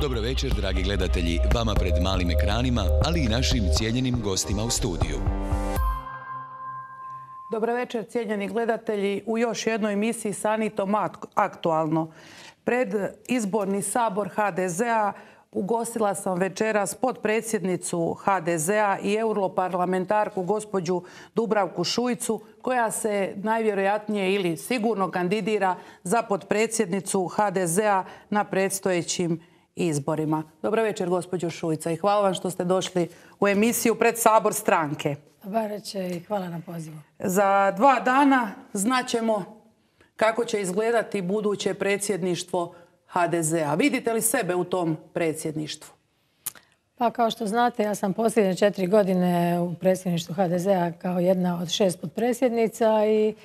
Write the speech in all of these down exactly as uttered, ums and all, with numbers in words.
Dobro večer, dragi gledatelji, vama pred malim ekranima, ali i našim cijenjenim gostima u studiju. Dobro večer, cijenjeni gledatelji, u još jednoj emisiji Sanitom aktualno. Pred izborni sabor ha de zea ugostila sam večeras potpredsjednicu ha de zea i europarlamentarku gospođu Dubravku Šuicu, koja se najvjerojatnije ili sigurno kandidira za potpredsjednicu ha de zea na predstojećim izborima. Dobro večer, gospođo Šuica, i hvala vam što ste došli u emisiju pred sabor stranke. Dobar večer i hvala na pozivu. Za dva dana znaćemo kako će izgledati buduće predsjedništvo ha de zea. Vidite li sebe u tom predsjedništvu? Pa kao što znate, ja sam posljednje četiri godine u predsjedništvu ha de zea kao jedna od šest potpredsjednica i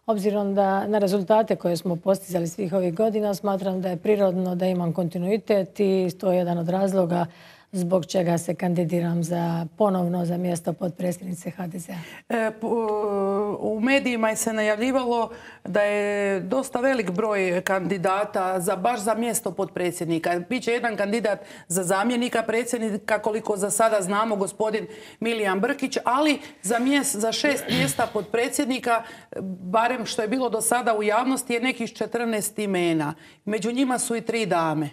obzirom da na rezultate koje smo postizali svih ovih godina, smatram da je prirodno da imam kontinuitet i to je jedan od razloga zbog čega se kandidiram za ponovno za mjesto potpredsjednice ha de zea. E, u medijima je se najavljivalo da je dosta velik broj kandidata za baš za mjesto potpredsjednika. Biće jedan kandidat za zamjenika predsjednika, koliko za sada znamo, gospodin Milijan Brkić, ali za, mjes, za šest mjesta potpredsjednika, barem što je bilo do sada u javnosti, je nekih četrnaest imena. Među njima su i tri dame.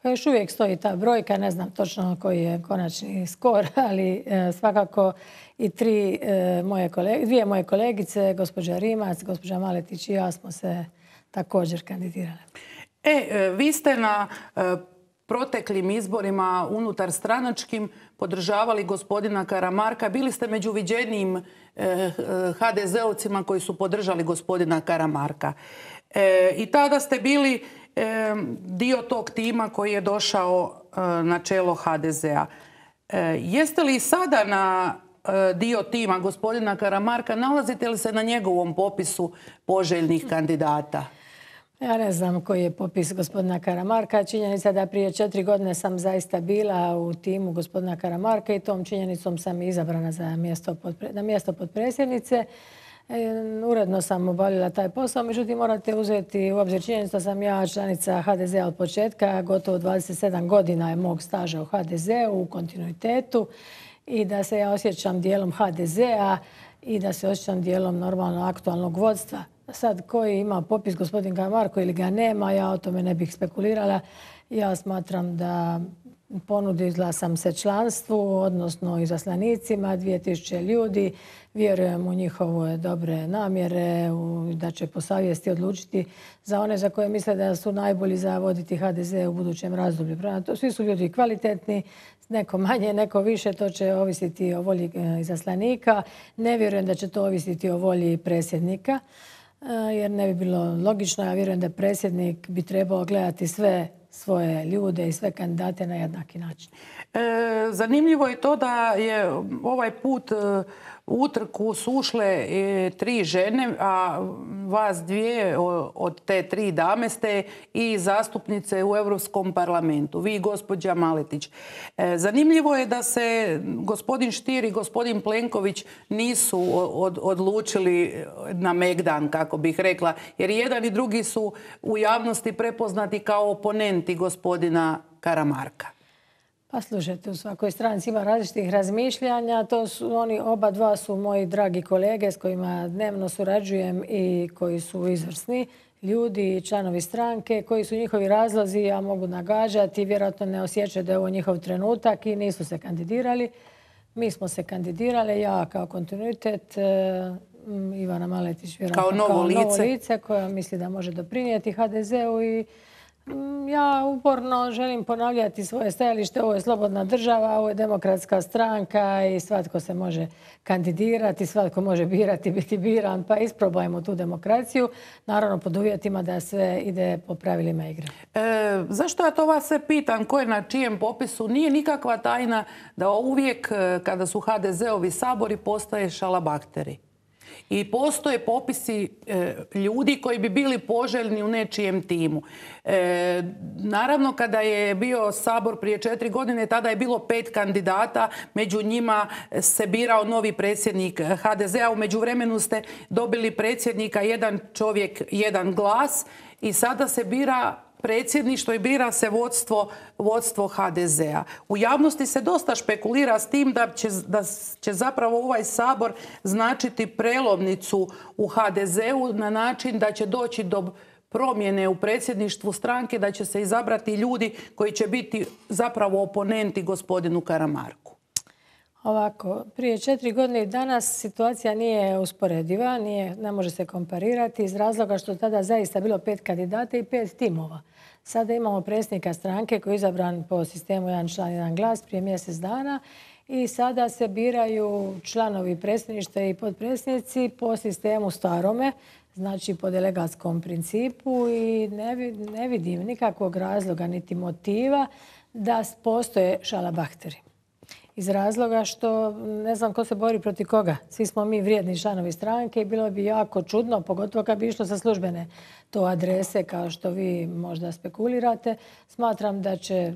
Pa još uvijek stoji ta brojka, ne znam točno koji je konačni skor, ali e, svakako i tri, e, moje kolege, dvije moje kolegice, gospođa Rimac, gospođa Maletić i ja smo se također kandidirale. E, vi ste na e, proteklim izborima unutar stranačkim podržavali gospodina Karamarka. Bili ste među viđenijim e, ha de zeovcima koji su podržali gospodina Karamarka. E, I tada ste bili dio tog tima koji je došao na čelo ha de zea. Jeste li sada na dio tima gospodina Karamarka? Nalazite li se na njegovom popisu poželjnih kandidata? Ja ne znam koji je popis gospodina Karamarka. Činjenica da prije četiri godine sam zaista bila u timu gospodina Karamarka i tom činjenicom sam izabrana za mjesto na mjesto potpredsjednice. Uredno sam obavljala taj posao, međutim morate uzeti u obzir činjenicu da sam ja članica ha de zea od početka, gotovo dvadeset sedam godina je mog staža u ha de zeu u kontinuitetu i da se ja osjećam dijelom ha de zea i da se osjećam dijelom normalno aktualnog vodstva. Sad koji ima popis gospodin Karamarko ili ga nema, ja o tome ne bih spekulirala. Ja smatram da ponudila sam se članstvu, odnosno izaslanicima, dvije tisuće ljudi. Vjerujem u njihove dobre namjere, da će po savjesti odlučiti za one za koje misle da su najbolji za voditi ha de ze u budućem razdoblju. Svi su ljudi kvalitetni, neko manje, neko više, to će ovisiti o volji izaslanika. Ne vjerujem da će to ovisiti o volji predsjednika, jer ne bi bilo logično. Ja vjerujem da predsjednik bi trebao gledati sve svoje ljude i sve kandidate na jednaki način. E, zanimljivo je to da je ovaj put u utrku su ušle tri žene, a vas dvije od te tri dame ste i zastupnice u Europskom parlamentu. Vi i gospođa Maletić. E, zanimljivo je da se gospodin Stier i gospodin Plenković nisu od, odlučili na megdan, kako bih rekla, jer jedan i drugi su u javnosti prepoznati kao oponenti gospodina Karamarka. Pa slušajte, u svakoj stranci ima različitih razmišljanja. To su, oni oba dva su moji dragi kolege s kojima dnevno surađujem i koji su izvrsni ljudi i članovi stranke, koji su njihovi razlozi, ja mogu nagađati, vjerojatno ne osjećaju da je ovo njihov trenutak i nisu se kandidirali. Mi smo se kandidirali, ja kao kontinuitet, Ivana Maletić vjerojatno kao novo, kao lice. novo lice koja misli da može doprinijeti ha de zeu i ja uporno želim ponavljati svoje stajalište. Ovo je slobodna država, ovo je demokratska stranka i svatko se može kandidirati, svatko može birati, biti biran, pa isprobajmo tu demokraciju. Naravno pod uvjetima da sve ide po pravilima igre. E, zašto ja to vas se pitam? Ko je na čijem popisu? Nije nikakva tajna da uvijek kada su ha de zeovi sabori postaje šalabahteri. I postoje popisi e, ljudi koji bi bili poželjni u nečijem timu. E, naravno, kada je bio sabor prije četiri godine, tada je bilo pet kandidata. Među njima se birao novi predsjednik ha de zea. U međuvremenu ste dobili predsjednika jedan čovjek, jedan glas. I sada se bira predsjedništvo i bira se vodstvo, vodstvo ha de zea. U javnosti se dosta špekulira s tim da će, da će zapravo ovaj Sabor značiti prelovnicu u ha de zeu na način da će doći do promjene u predsjedništvu stranke, da će se izabrati ljudi koji će biti zapravo oponenti gospodinu Karamarku. Ovako, prije četiri godine i danas situacija nije usporediva, nije, ne može se komparirati iz razloga što tada zaista bilo pet kandidata i pet timova. Sada imamo predsjednika stranke koji je izabran po sistemu jedan član, jedan glas prije mjesec dana i sada se biraju članovi predsjedništva i potpredsjednici po sistemu starome, znači po delegatskom principu i ne vidim nikakvog razloga niti motiva da postoje šalabahteri. Iz razloga što ne znam ko se bori protiv koga. Svi smo mi vrijedni članovi stranke i bilo bi jako čudno, pogotovo kad bi išlo sa službene to adrese kao što vi možda spekulirate. Smatram da će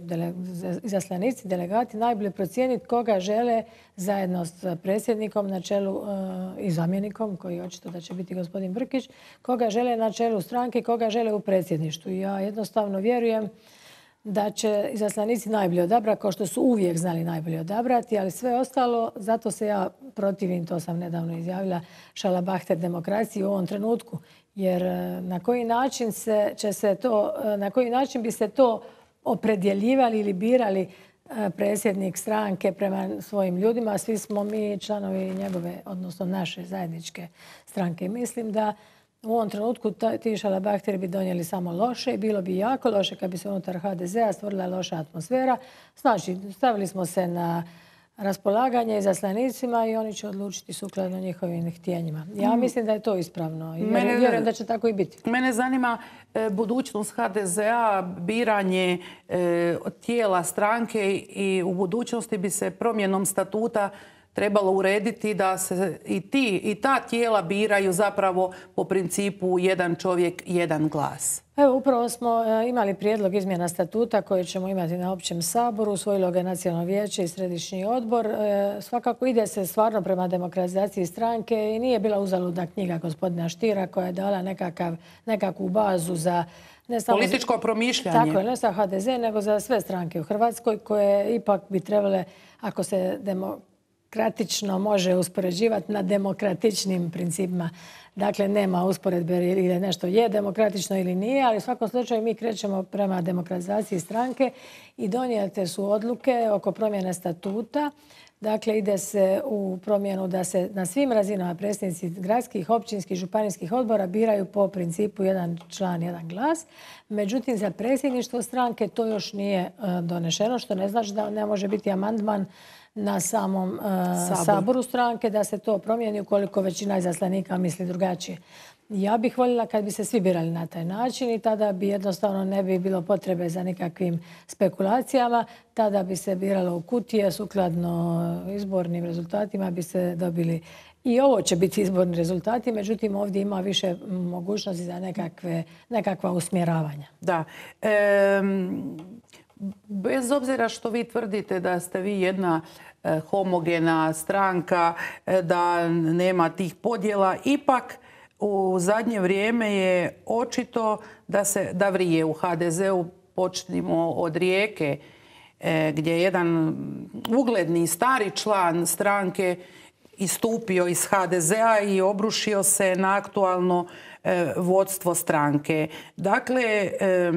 izaslanici, delegati najbolje procijeniti koga žele zajedno s predsjednikom na čelu i zamjenikom, koji očito da će biti gospodin Brkić, koga žele na čelu stranke i koga žele u predsjedništvu. Ja jednostavno vjerujem da će izaslanici najbolje odabrati, kao što su uvijek znali najbolje odabrati, ali sve ostalo, zato se ja protivim, to sam nedavno izjavila, šalabahter demokraciji u ovom trenutku. Jer na koji način se, će se to, na koji način bi se to opredjeljivali ili birali predsjednik stranke prema svojim ljudima, svi smo mi članovi njegove, odnosno naše zajedničke stranke. Mislim da u ovom trenutku ti šalabahteri bi donijeli samo loše i bilo bi jako loše kad bi se unutar ha de zea stvorila loša atmosfera. Znači, stavili smo se na raspolaganje izaslanicima i oni će odlučiti sukladno njihovim htjenjima. Ja mislim da je to ispravno i mene, vjerujem da će tako i biti. Mene zanima e, budućnost ha de zea, biranje e, tijela stranke i u budućnosti bi se promjenom statuta trebalo urediti da se i, ti, i ta tijela biraju zapravo po principu jedan čovjek, jedan glas. Evo, upravo smo imali prijedlog izmjena statuta koje ćemo imati na općem saboru. Usvojilo ga Nacionalno vijeće i Središnji odbor. Svakako ide se stvarno prema demokratizaciji stranke i nije bila uzaludna knjiga gospodina Štira koja je dala nekakav, nekakvu bazu za ne samo političko za, promišljanje. Tako je, ne za ha de ze, nego za sve stranke u Hrvatskoj koje ipak bi trebale, ako se demokratično može uspoređivati na demokratičnim principima. Dakle, nema usporedbe ili nešto je demokratično ili nije, ali u svakom slučaju mi krećemo prema demokratizaciji stranke i donijete su odluke oko promjene statuta. Dakle, ide se u promjenu da se na svim razinama predsjednici gradskih, općinskih, županijskih odbora biraju po principu jedan član, jedan glas. Međutim, za predsjedništvo stranke to još nije donešeno, što ne znači da ne može biti amandman na samom uh, Sabor. saboru stranke da se to promijeni ukoliko većina izaslanika misli drugačije. Ja bih voljela kad bi se svi birali na taj način i tada bi jednostavno ne bi bilo potrebe za nikakvim spekulacijama. Tada bi se biralo u kutije, sukladno izbornim rezultatima bi se dobili. I ovo će biti izborni rezultati, međutim ovdje ima više mogućnosti za nekakve, nekakva usmjeravanja. Da. E, bez obzira što vi tvrdite da ste vi jedna e, homogena stranka, e, da nema tih podjela, ipak u zadnje vrijeme je očito da se da vrije u ha de zeu. Počnimo od Rijeke, e, gdje je jedan ugledni stari član stranke istupio iz ha de zea i obrušio se na aktualno e, vodstvo stranke. Dakle, e, e,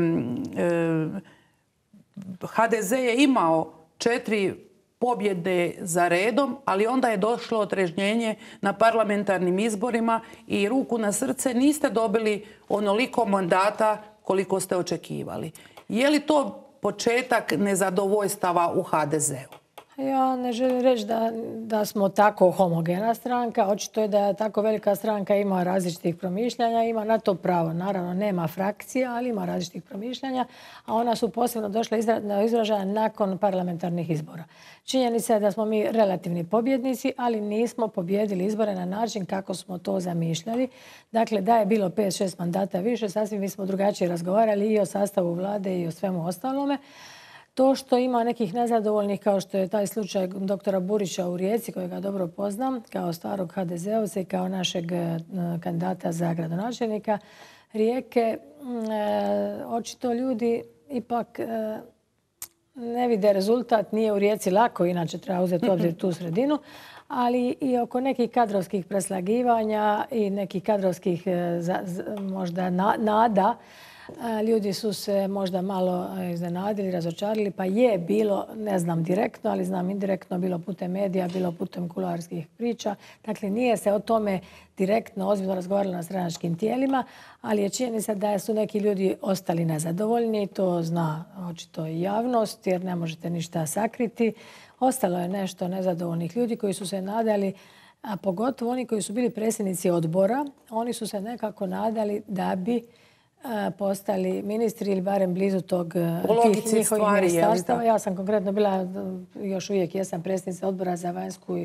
ha de ze je imao četiri pobjede za redom, ali onda je došlo otrežnjenje na parlamentarnim izborima i ruku na srce niste dobili onoliko mandata koliko ste očekivali. Je li to početak nezadovoljstava u ha de zeu? Ja ne želim reći da, da smo tako homogena stranka. Očito je da tako velika stranka ima različitih promišljanja, ima na to pravo. Naravno, nema frakcija, ali ima različitih promišljanja, a ona su posebno došla na izražaja nakon parlamentarnih izbora. Činjenica je da smo mi relativni pobjednici, ali nismo pobjedili izbore na način kako smo to zamišljali. Dakle, da je bilo pet šest mandata više, sasvim mi smo drugačije razgovarali i o sastavu vlade i o svemu ostalome. To što ima nekih nezadovoljnih, kao što je taj slučaj doktora Burića u Rijeci, kojega dobro poznam, kao starog ha de zeovca i kao našeg kandidata za gradonačelnika, Rijeke, očito ljudi ipak ne vide rezultat. Nije u Rijeci lako, inače treba uzeti u obzir tu sredinu, ali i oko nekih kadrovskih preslagivanja i nekih kadrovskih možda nada. Ljudi su se možda malo iznenadili, razočarili, pa je bilo, ne znam direktno, ali znam indirektno, bilo putem medija, bilo putem kuloarskih priča. Dakle, nije se o tome direktno ozbiljno razgovaralo na stranačkim tijelima, ali je činjenica da su neki ljudi ostali nezadovoljni. To zna očito i javnost, jer ne možete ništa sakriti. Ostalo je nešto nezadovoljnih ljudi koji su se nadali, a pogotovo oni koji su bili predsjednici odbora, oni su se nekako nadali da bi postali ministri ili barem blizu tog tih njihovih ministarstava. Ja sam konkretno bila, još uvijek jesam predsjednica odbora za vanjsku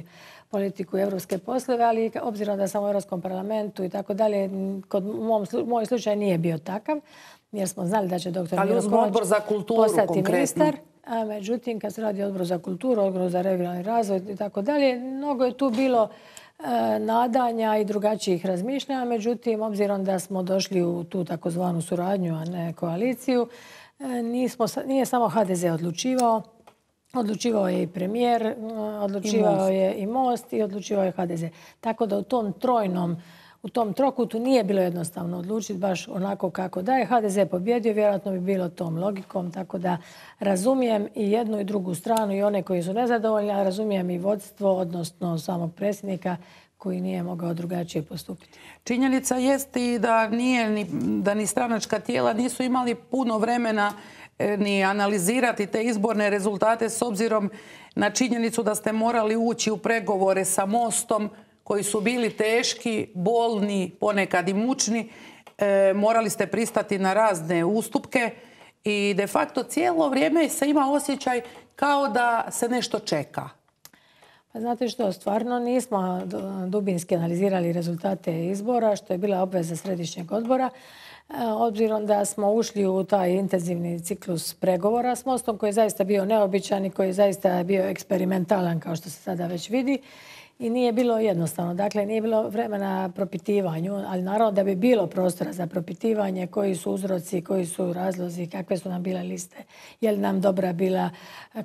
politiku i evropske poslove, ali obzirom da sam u Europskom parlamentu i tako dalje, kod moj slučaj nije bio takav, jer smo znali da će doktor Miro Kovač postati ministar. Međutim, kad se radi o odboru za kulturu, odboru za regionalni razvoj i tako dalje, mnogo je tu bilo nadanja i drugačijih razmišljanja. Međutim, obzirom da smo došli u tu takozvanu suradnju, a ne koaliciju, nismo, nije samo ha de ze odlučivao. Odlučivao je i premijer, odlučivao je i Most i odlučivao je ha de ze. Tako da u tom trojnom, u tom trokutu nije bilo jednostavno odlučiti baš onako kako da je ha de ze pobjedio. Vjerojatno bi bilo tom logikom. Tako da razumijem i jednu i drugu stranu i one koji su nezadovoljni, a razumijem i vodstvo, odnosno samog predsjednika koji nije mogao drugačije postupiti. Činjenica jest i da, nije, ni, da ni stranačka tijela nisu imali puno vremena ni analizirati te izborne rezultate s obzirom na činjenicu da ste morali ući u pregovore sa Mostom koji su bili teški, bolni, ponekad i mučni. E, morali ste pristati na razne ustupke i de facto cijelo vrijeme se ima osjećaj kao da se nešto čeka. Pa znate što, stvarno nismo dubinski analizirali rezultate izbora, što je bila obveza središnjeg odbora. Obzirom da smo ušli u taj intenzivni ciklus pregovora s Mostom, koji je zaista bio neobičan i koji je zaista bio eksperimentalan, kao što se sada već vidi. I nije bilo jednostavno. Dakle, nije bilo vremena propitivanju, ali naravno da bi bilo prostora za propitivanje, koji su uzroci, koji su razlozi, kakve su nam bile liste, je li nam dobra bila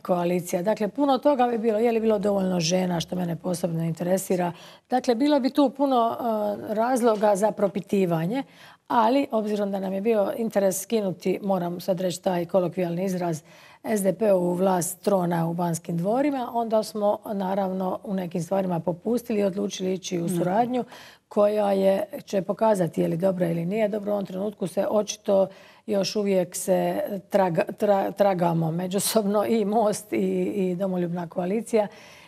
koalicija. Dakle, puno toga bi bilo. Je li bilo dovoljno žena, što mene posebno interesira. Dakle, bilo bi tu puno uh, razloga za propitivanje, ali obzirom da nam je bio interes skinuti, moram sad reći taj kolokvijalni izraz, es de pe ovu vlast trona u Banskim dvorima, onda smo naravno u nekim stvarima popustili i odlučili ići u suradnju koja je, će pokazati je li dobra ili nije dobro. U ovom trenutku se očito još uvijek se traga, tra, tragamo međusobno i Most i, i Domoljubna koalicija.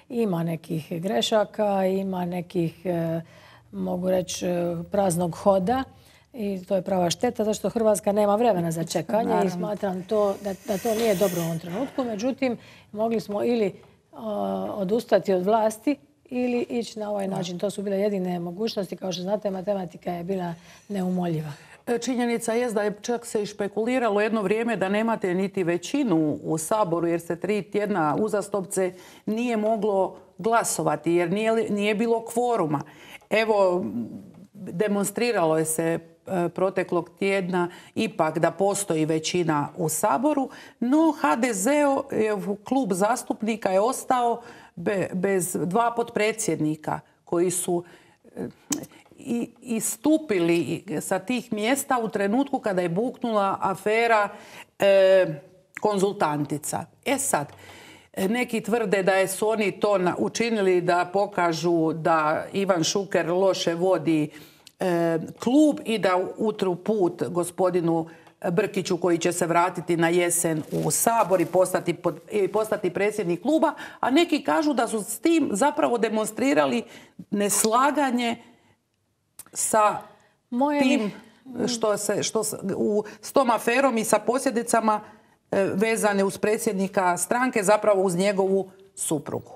Ima nekih grešaka, ima nekih, mogu reći, praznog hoda. I to je prava šteta, zašto Hrvatska nema vremena za čekanje. Naravno. I smatram to, da, da to nije dobro u ovom trenutku. Međutim, mogli smo ili uh, odustati od vlasti ili ići na ovaj način. To su bile jedine mogućnosti. Kao što znate, matematika je bila neumoljiva. Činjenica je da je čak se i špekuliralo jedno vrijeme da nemate niti većinu u Saboru jer se tri tjedna uzastopce nije moglo glasovati jer nije, nije bilo kvoruma. Evo, demonstriralo je se proteklog tjedna ipak da postoji većina u Saboru, no ha de zeov klub zastupnika je ostao be, bez dva potpredsjednika koji su i, istupili sa tih mjesta u trenutku kada je buknula afera e, konzultantica. E sad, neki tvrde da su oni to učinili da pokažu da Ivan Šuker loše vodi e, klub i da utru put gospodinu Brkiću koji će se vratiti na jesen u Sabor i postati, pod, i postati predsjednik kluba, a neki kažu da su s tim zapravo demonstrirali neslaganje sa Moje tim što se, što se, u, s tom aferom i sa posljedicama vezane uz predsjednika stranke, zapravo uz njegovu suprugu.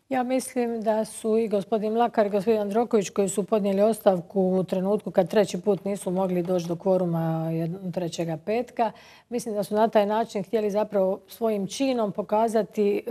Ja mislim da su i gospodin Mlakar i gospodin Jandroković koji su podnijeli ostavku u trenutku kad treći put nisu mogli doći do kvoruma trećega petka. Mislim da su na taj način htjeli zapravo svojim činom pokazati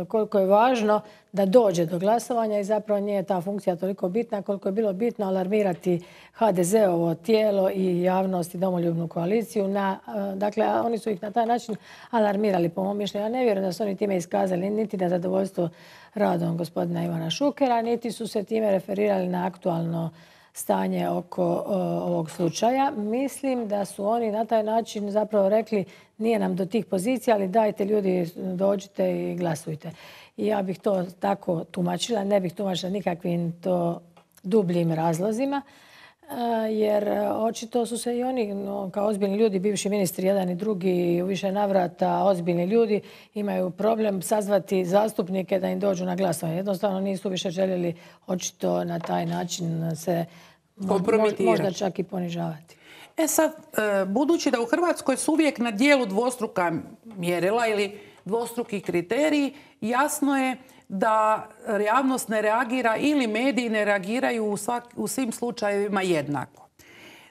koliko je važno da dođe do glasovanja i zapravo nije ta funkcija toliko bitna koliko je bilo bitno alarmirati ha de zeovo tijelo i javnost i domoljubnu koaliciju. Na, dakle, oni su ih na taj način alarmirali, po mom mišljenju. Ja ne vjerujem da su oni time iskazali niti na zadovoljstvo radom gospodina Ivana Šukera, niti su se time referirali na aktualno stanje oko o, ovog slučaja. Mislim da su oni na taj način zapravo rekli nije nam do tih pozicija, ali dajte ljudi, dođite i glasujte. I ja bih to tako tumačila, ne bih tumačila nikakvim to dubljim razlozima, jer očito su se i oni no, kao ozbiljni ljudi, bivši ministri jedan i drugi, u više navrata ozbiljni ljudi, imaju problem sazvati zastupnike da im dođu na glasovanje. Jednostavno nisu više željeli očito na taj način se možda čak i ponižavati. E sad, budući da u Hrvatskoj su uvijek na dijelu dvostruka mjerila ili dvostruki kriteriji, jasno je da javnost ne reagira ili mediji ne reagiraju u, svak, u svim slučajevima jednako.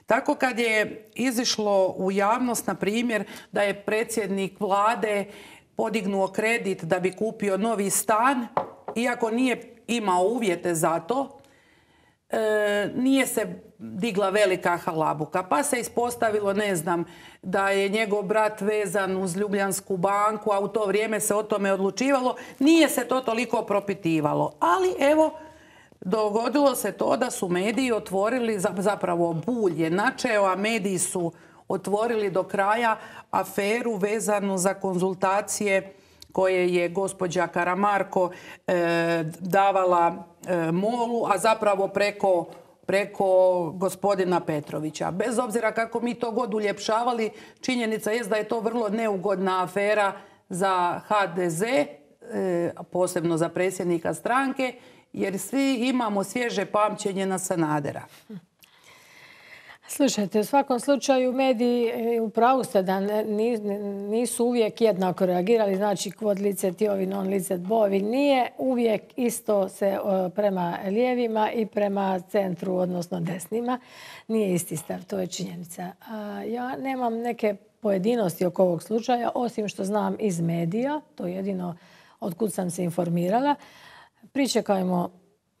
Tako kad je izišlo u javnost, na primjer, da je predsjednik vlade podignuo kredit da bi kupio novi stan, iako nije imao uvjete za to, e, nije se digla velika halabuka. Pa se ispostavilo, ne znam, da je njegov brat vezan uz Ljubljansku banku, a u to vrijeme se o tome odlučivalo. Nije se to toliko propitivalo. Ali evo, dogodilo se to da su mediji otvorili, zapravo Bulj je načeo, a mediji su otvorili do kraja aferu vezanu za konzultacije koje je gospođa Karamarko e, davala e, Molu, a zapravo preko preko gospodina Petrovića. Bez obzira kako mi to god uljepšavali, činjenica je da je to vrlo neugodna afera za ha de ze, posebno za predsjednika stranke, jer svi imamo svježe pamćenje na Sanadera. Slušajte, u svakom slučaju mediji, u pravu ste da nisu uvijek jednako reagirali, znači kvod licet ovi, non licet bovi. Nije uvijek isto se prema lijevima i prema centru, odnosno desnima. Nije isti stav, to je činjenica. Ja nemam neke pojedinosti oko ovog slučaja, osim što znam iz medija, to je jedino otkud sam se informirala. Pričekajmo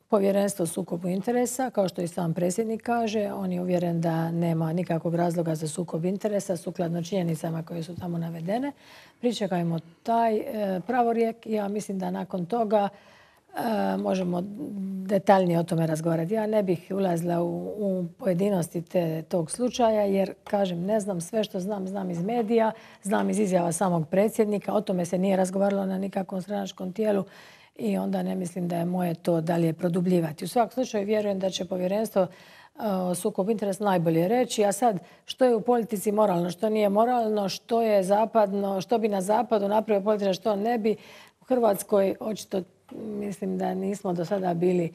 Povjerenstvo o sukobu interesa, kao što i sam predsjednik kaže, on je uvjeren da nema nikakvog razloga za sukob interesa sukladno činjenicama koje su tamo navedene. Pričekajmo taj e, pravorijek. Ja mislim da nakon toga e, možemo detaljnije o tome razgovarati. Ja ne bih ulazila u, u pojedinosti te, tog slučaja, jer, kažem, ne znam sve što znam, znam iz medija, znam iz izjava samog predsjednika. O tome se nije razgovaralo na nikakvom stranačkom tijelu. I onda ne mislim da je moje to dalje produbljivati. U svakom slučaju vjerujem da će Povjerenstvo o sukobu interesa najbolje reći. A sad, što je u politici moralno, što nije moralno, što je zapadno, što bi na zapadu napravio politika, što ne bi. U Hrvatskoj očito mislim da nismo do sada bili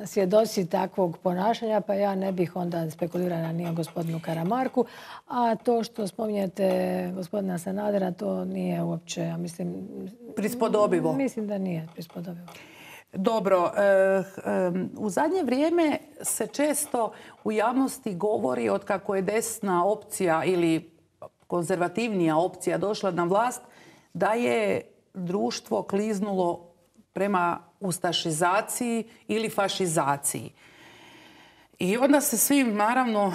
svjedoci takvog ponašanja, pa ja ne bih onda spekulirala ni o gospodinu Karamarku. A to što spominjete gospodina Sanadera, to nije uopće, ja mislim... Prispodobivo. Mislim da nije prispodobivo. Dobro. U zadnje vrijeme se često u javnosti govori od kako je desna opcija ili konzervativnija opcija došla na vlast, da je društvo kliznulo prema ustašizaciji ili fašizaciji. I onda se svi naravno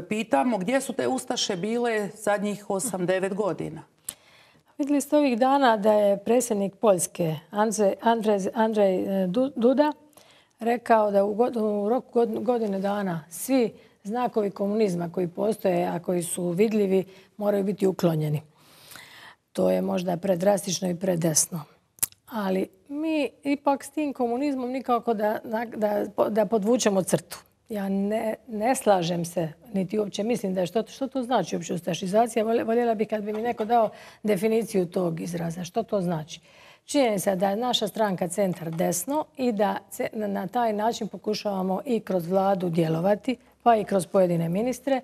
pitamo gdje su te ustaše bile zadnjih osam devet godina. Vidjeli ste ovih dana da je predsjednik Poljske Andrzej, Andrzej, Andrzej Duda rekao da u roku godine dana svi znakovi komunizma koji postoje, a koji su vidljivi, moraju biti uklonjeni. To je možda predrastično i predesno. Ali mi ipak s tim komunizmom nikako da, da, da podvučemo crtu. Ja ne, ne slažem se, niti uopće mislim da je što, što to znači uopće ustašizacija. Voljela bih kad bi mi neko dao definiciju tog izraza. Što to znači? Činjenica je da je naša stranka centar desno i da na taj način pokušavamo i kroz vladu djelovati, pa i kroz pojedine ministre.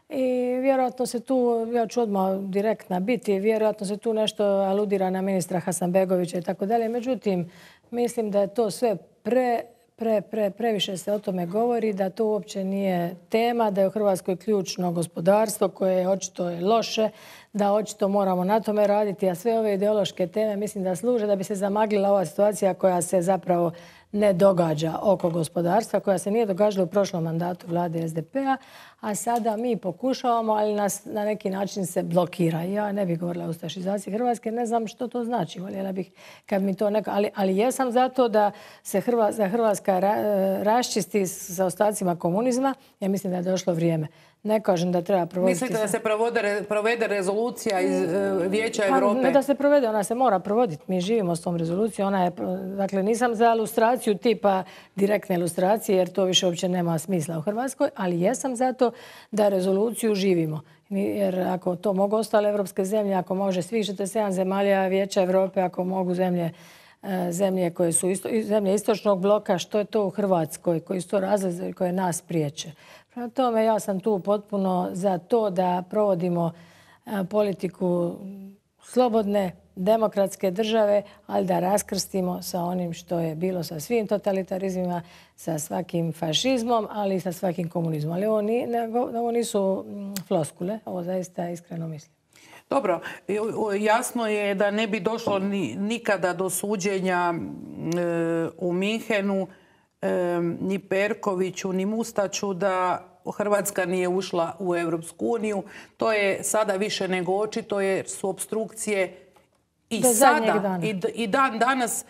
I vjerojatno se tu, ja ću odmah direktna biti, vjerojatno se tu nešto aludira na ministra Hasanbegovića i tako dalje. Međutim, mislim da je to sve pre, pre, pre, previše se o tome govori, da to uopće nije tema, da je u Hrvatskoj ključno gospodarstvo koje je očito je loše, da očito moramo na tome raditi, a sve ove ideološke teme mislim da služe da bi se zamaglila ova situacija koja se zapravo ne događa oko gospodarstva, koja se nije događala u prošlom mandatu vlade S D P-a, a sada mi pokušavamo, ali nas na neki način se blokira. Ja ne bih govorila o ustašizaciji Hrvatske, ne znam što to znači. Voljela bih kad mi to neko... Ali, ali jesam zato da se Hrvatska, da Hrvatska ra, raščisti sa ostacima komunizma. Ja mislim da je došlo vrijeme. Ne kažem da treba provoditi... Mislite da se provode, provede rezolucija iz uh, Vijeća pa, Europe? Ne da se provede, ona se mora provoditi. Mi živimo s tom rezolucijom. Ona je, dakle, nisam za ilustraciju tipa direktne ilustracije, jer to više uopće nema smisla u Hrvatskoj, ali jesam zato da rezoluciju živimo. Jer ako to mogu ostale evropske zemlje, ako može svih četrdeset sedam zemalja Vijeća Europe, ako mogu zemlje zemlje koje su isto, zemlje istočnog bloka, što je to u Hrvatskoj, koji su to razlozi koje nas priječe. Prema tome, ja sam tu potpuno za to da provodimo politiku slobodne, demokratske države, ali da raskrstimo sa onim što je bilo sa svim totalitarizmima, sa svakim fašizmom, ali i sa svakim komunizmom. Ali ovo, ni, ne, ovo nisu floskule, ovo zaista iskreno mislim. Dobro, jasno je da ne bi došlo ni, nikada do suđenja e, u Minhenu e, ni Perkoviću, ni Mustaču da Hrvatska nije ušla u Europsku uniju. To je sada više nego očito jer su opstrukcije i do sada i, i dan danas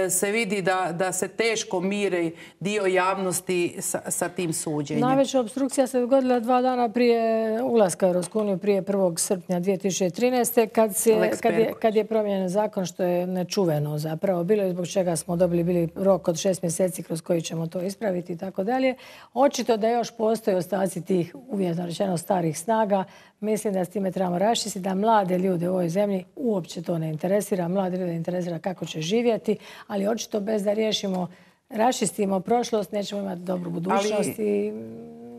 se vidi da, da se teško mire dio javnosti sa, sa tim suđenjem. Najveća opstrukcija se dogodila dva dana prije ulaska u Europsku uniju, prije prvog srpnja dvije tisuće trinaeste. Kad, se, kad, je, kad je promijenjen zakon, što je nečuveno zapravo bilo i zbog čega smo dobili bili rok od šest mjeseci kroz koji ćemo to ispraviti i tako dalje. Očito da još postoje ostaci tih, uvjetno rečeno, starih snaga. Mislim da s time trebamo raščistiti, da mlade ljude u ovoj zemlji uopće to ne interesira. Mlade ljude interesira kako će živjeti, ali očito bez da riješimo, raščistimo prošlost, nećemo imati dobru budućnost. Ali... I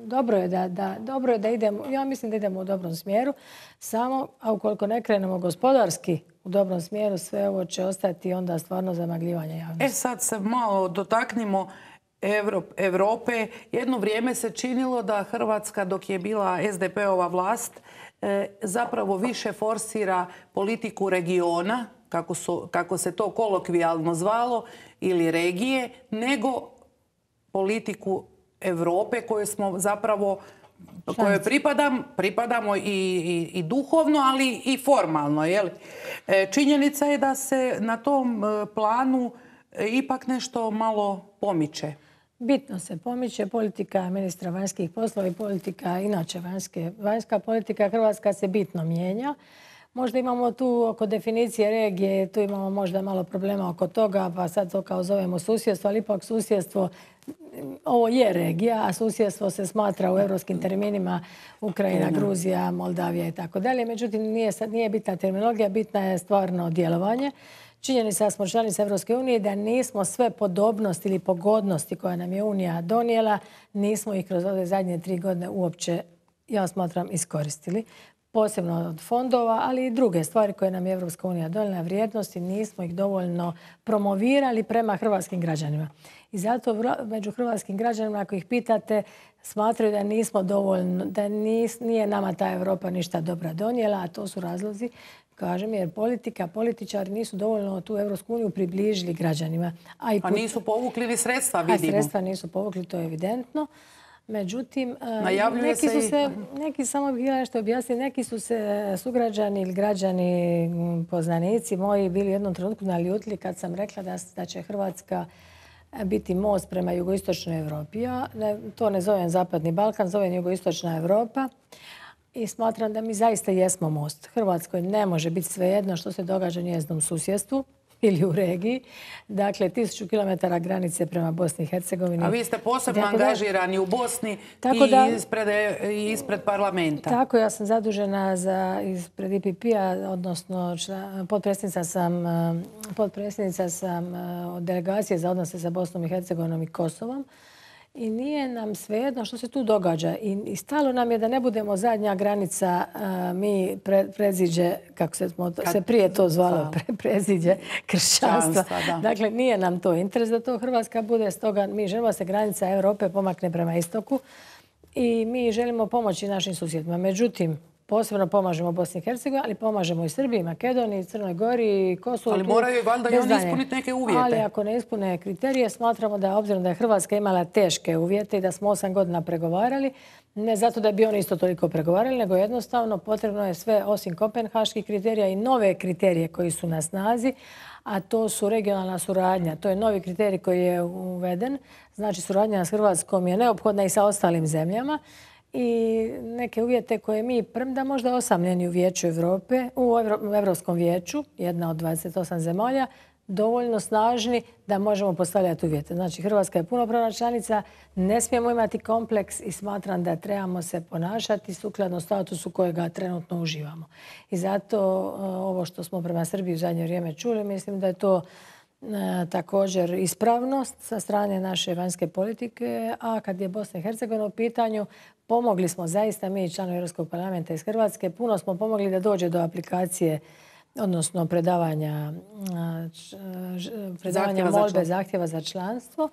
dobro je da, da, dobro je da idemo, ja mislim da idemo u dobrom smjeru, samo, a ukoliko ne krenemo gospodarski u dobrom smjeru, sve ovo će ostati onda stvarno zamagljivanje javnosti. E sad se malo dotaknimo Europe. Jedno vrijeme se činilo da Hrvatska, dok je bila S D P-ova vlast, zapravo više forsira politiku regiona, kako, su, kako se to kolokvijalno zvalo, ili regije, nego politiku Europe koju smo zapravo kojoj pripadam, pripadamo i, i, i duhovno, ali i formalno. Jel? Činjenica je da se na tom planu ipak nešto malo pomiče. Bitno se pomiče politika ministra vanjskih poslova i politika, inače vanjske, vanjska politika Hrvatska se bitno mijenja. Možda imamo tu oko definicije regije, tu imamo možda malo problema oko toga, pa sad to kao zovemo susjedstvo, ali ipak susjedstvo, ovo je regija, a susjedstvo se smatra u europskim terminima Ukrajina, Gruzija, Moldavija i tako dalje. Međutim, nije, nije bitna terminologija, bitna je stvarno djelovanje. Činjenica da smo članice Europske unije, da nismo sve podobnosti ili pogodnosti koje nam je Unija donijela, nismo ih kroz ove zadnje tri godine uopće, ja smatram, iskoristili. Posebno od fondova, ali i druge stvari koje nam je Europska unija donijela vrijednosti, nismo ih dovoljno promovirali prema hrvatskim građanima. I zato među hrvatskim građanima, ako ih pitate, smatraju da nismo dovoljno, da nis, nije nama ta Europa ništa dobra donijela, a to su razlozi, kažem, jer politika, političari nisu dovoljno tu Europsku uniju približili građanima. A i pa nisu povukli ni sredstva, vidimo. A sredstva nisu povukli, to je evidentno. Međutim, neki su se, neki, samo bih htjela nešto objasniti, neki su se sugrađani ili građani, poznanici moji bili u jednom trenutku naljutili kad sam rekla da, da će Hrvatska biti most prema jugoistočnoj Europi. Ja ne, to ne zovem Zapadni Balkan, zovem jugoistočna Europa. I smatram da mi zaista jesmo most. Hrvatskoj ne može biti svejedno što se događa u njezinom susjedstvu ili u regiji. Dakle, tisuću kilometara granice prema Bosni i Hercegovini. A vi ste posebno tako angažirani da, u Bosni i, da, ispred, i ispred parlamenta. Tako, ja sam zadužena za, ispred I P P-a, odnosno potpredsjednica sam, potpredsjednica sam od delegacije za odnose sa Bosnom i Hercegovinom i Kosovom. I nije nam svejedno što se tu događa. I, i stalo nam je da ne budemo zadnja granica, a, mi pre, preziđe, kako se, se prije to zvalo, pre, preziđe kršćanstva. Dakle, nije nam to interes da to Hrvatska bude. Stoga mi želimo da se granica Europe pomakne prema istoku i mi želimo pomoći našim susjedima. Međutim, posebno pomažemo Bosni i Hercegovini, ali pomažemo i Srbiji, Makedoniji, Crnoj Gori, Kosovu. Ali moraju valjda i oni ispuniti neke uvjete. Ali ako ne ispune kriterije, smatramo da, obzirom da je Hrvatska imala teške uvjete i da smo osam godina pregovarali, ne zato da bi oni isto toliko pregovarali, nego jednostavno potrebno je sve osim kopenhaških kriterija i nove kriterije koji su na snazi, a to su regionalna suradnja. To je novi kriterij koji je uveden. Znači, suradnja s Hrvatskom je neophodna i sa ostalim zemljama. I neke uvjete koje mi, premda možda osamljeni u Vijeću Evrope, u Evropskom vijeću, jedna od dvadeset osam zemalja, dovoljno snažni da možemo postavljati uvjete. Znači, Hrvatska je punopravna članica, ne smijemo imati kompleks i smatram da trebamo se ponašati sukladno statusu kojega trenutno uživamo. I zato ovo što smo prema Srbiji u zadnje vrijeme čuli, mislim da je to također ispravnost sa strane naše vanjske politike, a kad je Bosna i Hercegovina u pitanju, pomogli smo zaista mi, članovi Europskog parlamenta iz Hrvatske, puno smo pomogli da dođe do aplikacije, odnosno predavanja, predavanja molbe, zahtjeva za članstvo.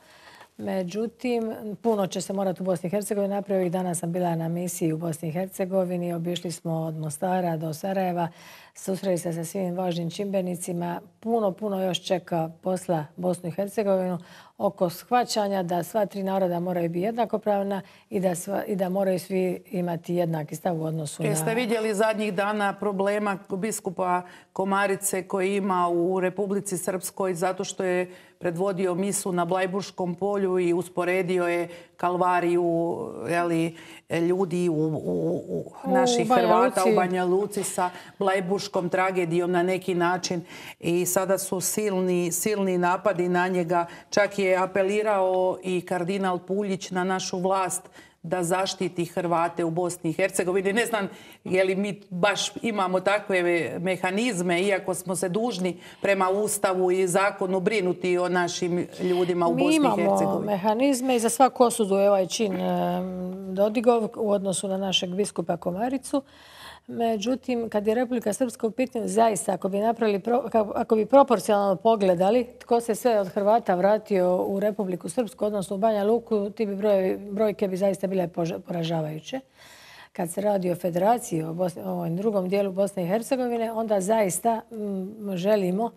Međutim, puno će se morati u Bosni i Hercegovini napraviti. Ovih dana sam bila na misiji u Bosni i Hercegovini, obišli smo od Mostara do Sarajeva, susreli se sa svim važnim čimbenicima. Puno, puno još čeka posla Bosnu i Hercegovinu oko shvaćanja da sva tri naroda moraju biti jednakopravna i da, sva, i da moraju svi imati jednaki stav u odnosu na... Jeste vidjeli zadnjih dana problema biskupa Komarice koji ima u Republici Srpskoj zato što je predvodio misu na Blajburškom polju i usporedio je kalvariju jeli, ljudi u, u, u naših u Hrvata u Banja Luci sa Blajburškom tragedijom na neki način i sada su silni, silni napadi na njega. Čak je apelirao i kardinal Puljić na našu vlast da zaštiti Hrvate u Bosni i Hercegovini. Ne znam je li mi baš imamo takve mehanizme, iako smo se dužni prema Ustavu i zakonu brinuti o našim ljudima u Bosni i Hercegovini. Mi imamo mehanizme i za svaku osudu je ovaj čin Dodigov u odnosu na našeg biskupa Komaricu. Međutim, kad je Republika Srpska u pitanju, zaista, ako bi, napravili, ako bi proporcionalno pogledali tko se sve od Hrvata vratio u Republiku Srpsku, odnosno u Banja Luku, ti bi broj, brojke bi zaista bile poražavajuće. Kad se radi o federaciji, o, Bosni, o ovom drugom dijelu Bosne i Hercegovine, onda zaista m, želimo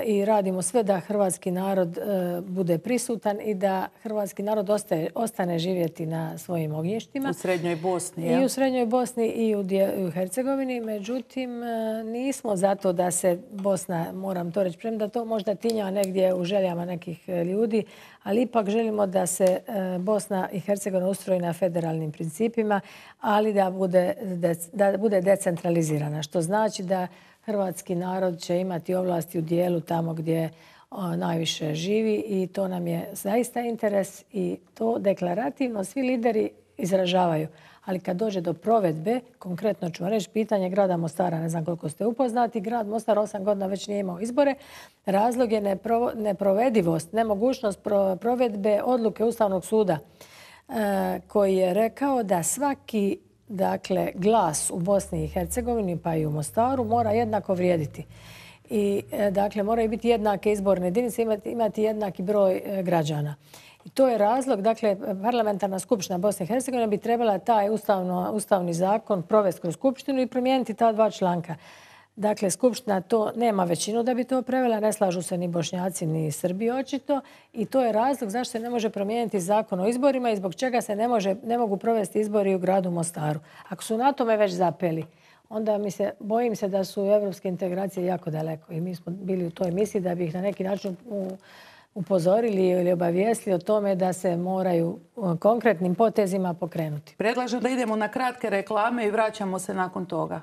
i radimo sve da hrvatski narod bude prisutan i da hrvatski narod ostaje, ostane živjeti na svojim ognjištima. U Srednjoj Bosni. I u Srednjoj Bosni i u, u Hercegovini. Međutim, nismo zato da se Bosna, moram to reći, premda to možda tinja negdje u željama nekih ljudi, ali ipak želimo da se Bosna i Hercegovina ustroji na federalnim principima, ali da bude, da bude decentralizirana. Što znači da hrvatski narod će imati ovlasti u dijelu tamo gdje najviše živi i to nam je zaista interes i to deklarativno svi lideri izražavaju. Ali kad dođe do provedbe, konkretno ću vam reći pitanje grada Mostara, ne znam koliko ste upoznati, grad Mostar osam godina već nije imao izbore. Razlog je nepro, neprovedivost, nemogućnost pro, provedbe odluke Ustavnog suda e, koji je rekao da svaki dakle, glas u Bosni i Hercegovini pa i u Mostaru mora jednako vrijediti. I dakle, moraju biti jednake izborne jedinice, imati, imati jednaki broj građana. I to je razlog, dakle, parlamentarna skupština Bosne i Hercegovine bi trebala taj ustavno, ustavni zakon provesti kroz skupštinu i promijeniti ta dva članka. Dakle, skupština to nema većinu da bi to prevela, ne slažu se ni Bošnjaci ni Srbi očito i to je razlog zašto se ne može promijeniti zakon o izborima i zbog čega se ne, može, ne mogu provesti izbori u gradu Mostaru. Ako su na tome već zapeli, onda mi se, bojim se da su evropske integracije jako daleko i mi smo bili u toj misiji da bi ih na neki način upozorili ili obavijestili o tome da se moraju konkretnim potezima pokrenuti. Predlažem da idemo na kratke reklame i vraćamo se nakon toga.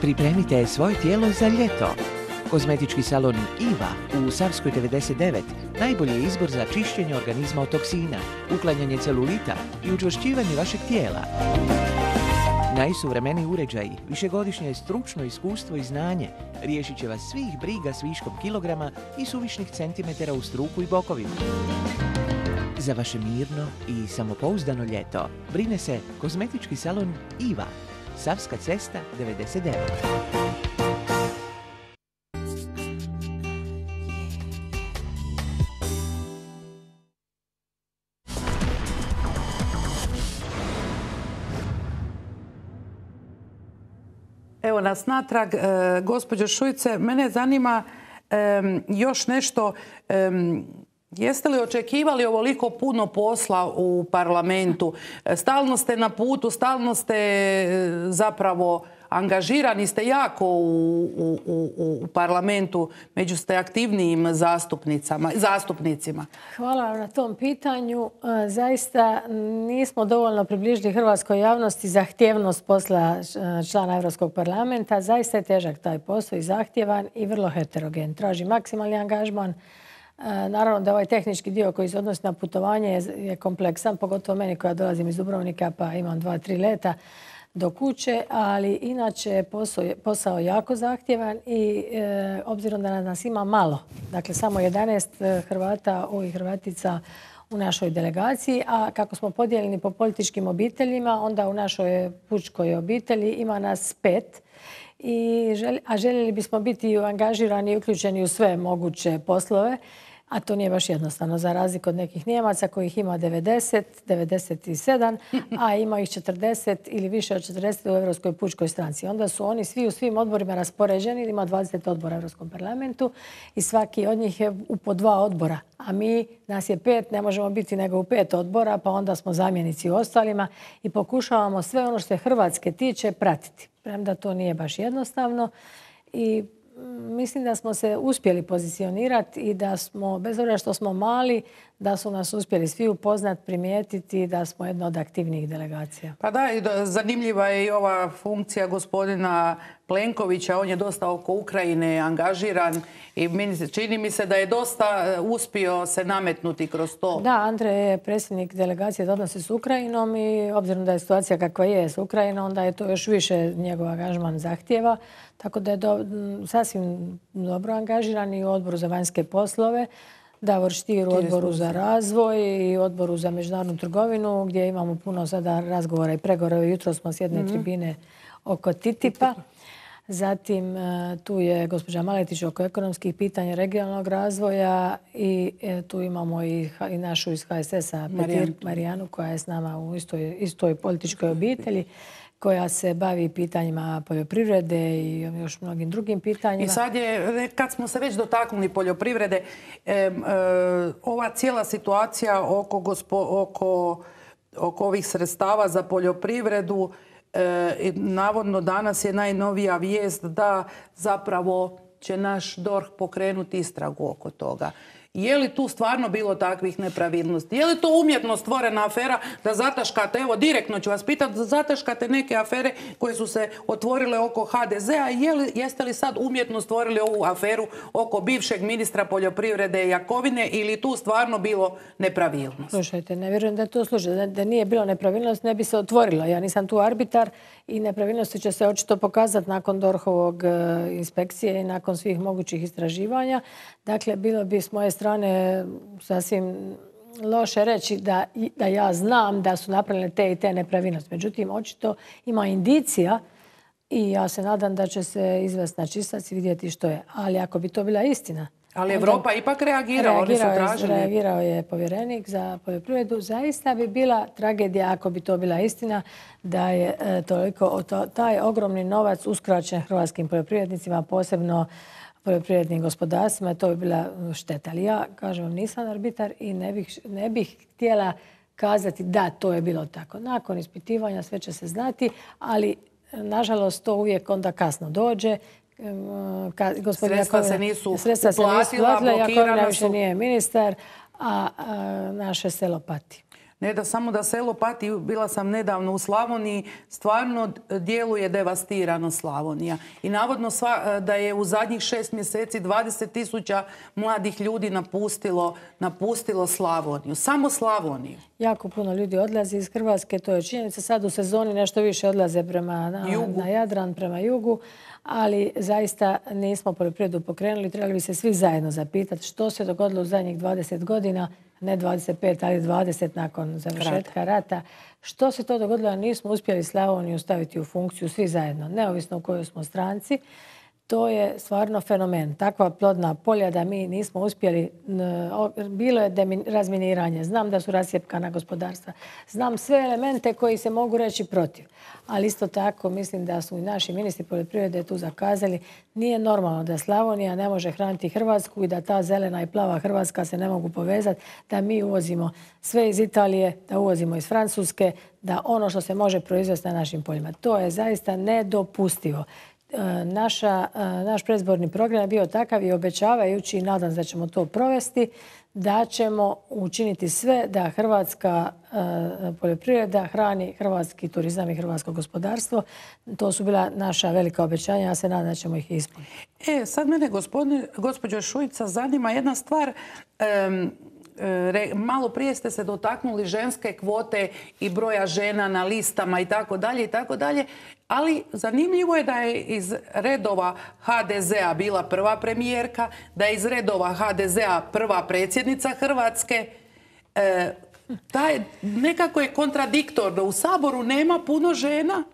Pripremite svoje tijelo za ljeto. Kozmetički salon Iva u Savskoj devedeset devet najbolji je izbor za čišćenje organizma od toksina, uklanjanje celulita i učvršćivanje vašeg tijela. Najsuvremeniji uređaji, višegodišnje stručno iskustvo i znanje riješit će vas svih briga s viškom kilograma i suvišnih centimetara u struku i bokovima. Za vaše mirno i samopouzdano ljeto brine se kozmetički salon Iva, Savska cesta devedeset devet. Evo nas natrag, e, gospođo Šuice, mene zanima e, još nešto. E, jeste li očekivali ovoliko puno posla u parlamentu? E, stalno ste na putu, stalno ste e, zapravo angažirani ste jako u, u, u, u parlamentu, među ste aktivnijim zastupnicama, zastupnicima. Hvala vam na tom pitanju. Zaista nismo dovoljno približili hrvatskoj javnosti zahtjevnost posla člana Europskog parlamenta. Zaista je težak taj posao i zahtjevan i vrlo heterogen. Traži maksimalni angažman. Naravno da ovaj tehnički dio koji se odnosi na putovanje je kompleksan, pogotovo meni koja dolazim iz Dubrovnika pa imam dva, tri leta do kuće, ali inače je posao, posao jako zahtjevan i e, obzirom da nas ima malo, dakle samo jedanaest Hrvata i Hrvatica u našoj delegaciji, a kako smo podijeljeni po političkim obiteljima, onda u našoj pučkoj obitelji ima nas pet. I želi, a željeli bismo biti angažirani i uključeni u sve moguće poslove, a to nije baš jednostavno, za razliku od nekih Nijemaca kojih ima devedeset, devedeset sedam, a ima ih četrdeset ili više od četrdeset u Europskoj pučkoj stranci. Onda su oni svi u svim odborima raspoređeni, ima dvadeset odbora u Europskom parlamentu i svaki od njih je u po dva odbora. A mi, nas je pet, ne možemo biti nego u pet odbora, pa onda smo zamjenici u ostalima i pokušavamo sve ono što se Hrvatske tiče pratiti. Premda to nije baš jednostavno i mislim da smo se uspjeli pozicionirati i da smo, bez obzira što smo mali, da su nas uspjeli svi upoznat, primijetiti da smo jedna od aktivnijih delegacija. Pa da, zanimljiva je i ova funkcija gospodina Plenkovića. On je dosta oko Ukrajine angažiran i čini mi se da je dosta uspio se nametnuti kroz to. Da, Andrej je predsjednik delegacije za odnose s Ukrajinom i obzirom da je situacija kakva je s Ukrajinom, onda je to još više njegov angažman zahtjeva. Tako da je do, sasvim dobro angažiran i u odboru za vanjske poslove, Davor Stier u odboru za razvoj i odboru za međunarodnu trgovinu, gdje imamo puno sada razgovora i pregovora. Jutro smo s jedne tribine oko TTIP-a. Zatim tu je gospođa Maletić oko ekonomskih pitanja regionalnog razvoja i tu imamo i, i našu iz H S S-a Petir Marijanu koja je s nama u istoj, istoj političkoj obitelji, koja se bavi pitanjima poljoprivrede i još mnogim drugim pitanjima. I sad je, kad smo se već dotaknuli poljoprivrede, e, e, ova cijela situacija oko, gospo, oko, oko ovih sredstava za poljoprivredu, e, navodno danas je najnovija vijest da zapravo će naš D O R H pokrenuti istragu oko toga. Je li tu stvarno bilo takvih nepravilnosti? Je li to umjetno stvorena afera da zataškate, evo direktno ću vas pitati, da zataškate neke afere koje su se otvorile oko H D Z-a? Je li, jeste li sad umjetno stvorili ovu aferu oko bivšeg ministra poljoprivrede Jakovine ili tu stvarno bilo nepravilnost? Slušajte, ne vjerujem da je to slučaj. Da, da nije bilo nepravilnost, ne bi se otvorila. Ja nisam tu arbitar i nepravilnosti će se očito pokazati nakon D O R H-ovog inspekcije i nakon svih mogućih istraživanja. Dakle, bilo bi s moje strane sasvim loše reći da, da ja znam da su napravljene te i te nepravilnosti. Međutim, očito ima indicija i ja se nadam da će se izvesti na čistac i vidjeti što je. Ali ako bi to bila istina... Ali Evropa ipak reagirao, oni su tražili. Reagirao je povjerenik za poljoprivredu. Zaista bi bila tragedija ako bi to bila istina da je e, toliko to, taj ogromni novac uskraćen hrvatskim poljoprivrednicima, posebno poljoprivrednim gospodarstvima. To bi bila šteta. Ali ja, kažem vam, nisam arbitar i ne bih, ne bih htjela kazati da to je bilo tako. Nakon ispitivanja sve će se znati, ali nažalost to uvijek onda kasno dođe. Ka, sredstva se nisu sredstva uplatila, se nisu uplatila, blokirana Jakovina su. više nije ministar, a, a naše selo pati. Ne da samo da selo pati, bila sam nedavno u Slavoniji, stvarno djeluje devastirano Slavonija. I navodno sva, da je u zadnjih šest mjeseci dvadeset tisuća mladih ljudi napustilo, napustilo Slavoniju. Samo Slavoniju. Jako puno ljudi odlazi iz Hrvatske, to je činjenica. Sad u sezoni nešto više odlaze prema na, na Jadran, prema jugu, ali zaista nismo poljoprivredu pokrenuli. Trebali bi se svi zajedno zapitati što se dogodilo u zadnjih dvadeset godina, ne dvadeset pet, ali dvadeset nakon završetka rata. Što se to dogodilo, a nismo uspjeli Slavoniju staviti u funkciju svi zajedno, neovisno u kojoj smo stranci. To je stvarno fenomen. Takva plodna polja da mi nismo uspjeli, bilo je razminiranje, znam da su rasjepkana gospodarstva, znam sve elemente koji se mogu reći protiv. Ali isto tako mislim da su i naši ministri poljoprivrede tu zakazali. Nije normalno da Slavonija ne može hraniti Hrvatsku i da ta zelena i plava Hrvatska se ne mogu povezati, da mi uvozimo sve iz Italije, da uvozimo iz Francuske, da ono što se može proizvesti na našim poljima. To je zaista nedopustivo. Naša, naš predizborni program je bio takav i obećavajući, i nadam se da ćemo to provesti, da ćemo učiniti sve da hrvatska poljoprivreda hrani hrvatski turizam i hrvatsko gospodarstvo. To su bila naša velika obećanja, ja se nadam da ćemo ih ispuniti. E, sad mene, gospođo Šuica, zanima jedna stvar. Um, Malo prije ste se dotaknuli ženske kvote i broja žena na listama i tako dalje i tako dalje. Ali zanimljivo je da je iz redova ha de zea bila prva premijerka, da je iz redova ha de zea prva predsjednica Hrvatske. E, taj, nekako je kontradiktorno. U Saboru nema puno žena.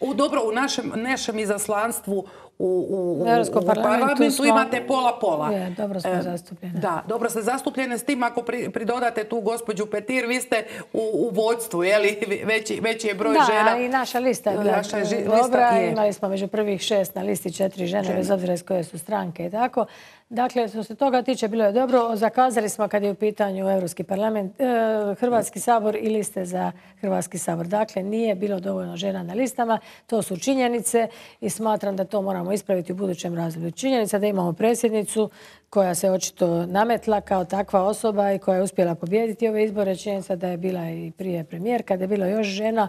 U, dobro, u našem, našem izaslanstvu u, u, u, u parlamentu smo, imate pola-pola. Je, dobro smo zastupljene. Da, dobro ste zastupljene, s tim ako pri, pridodate tu gospođu Petir, vi ste u, u vodstvu, je li? Veći, veći je broj da, žena. Da, i naša lista je bila naša ži, dobra. Lista imali smo među prvih šest na listi četiri žene, žene, bez obzira iz koje su stranke i tako. Dakle, što se toga tiče, bilo je dobro. Zakazali smo kad je u pitanju Europski parlament, eh, Hrvatski sabor i liste za Hrvatski sabor. Dakle, nije bilo dovoljno žena na listama. To su činjenice i smatram da to moramo ispraviti u budućem razdoblju. Činjenica da imamo predsjednicu koja se očito nametla kao takva osoba i koja je uspjela pobijediti ove izbore. Činjenica da je bila i prije premijerka, da je bilo još žena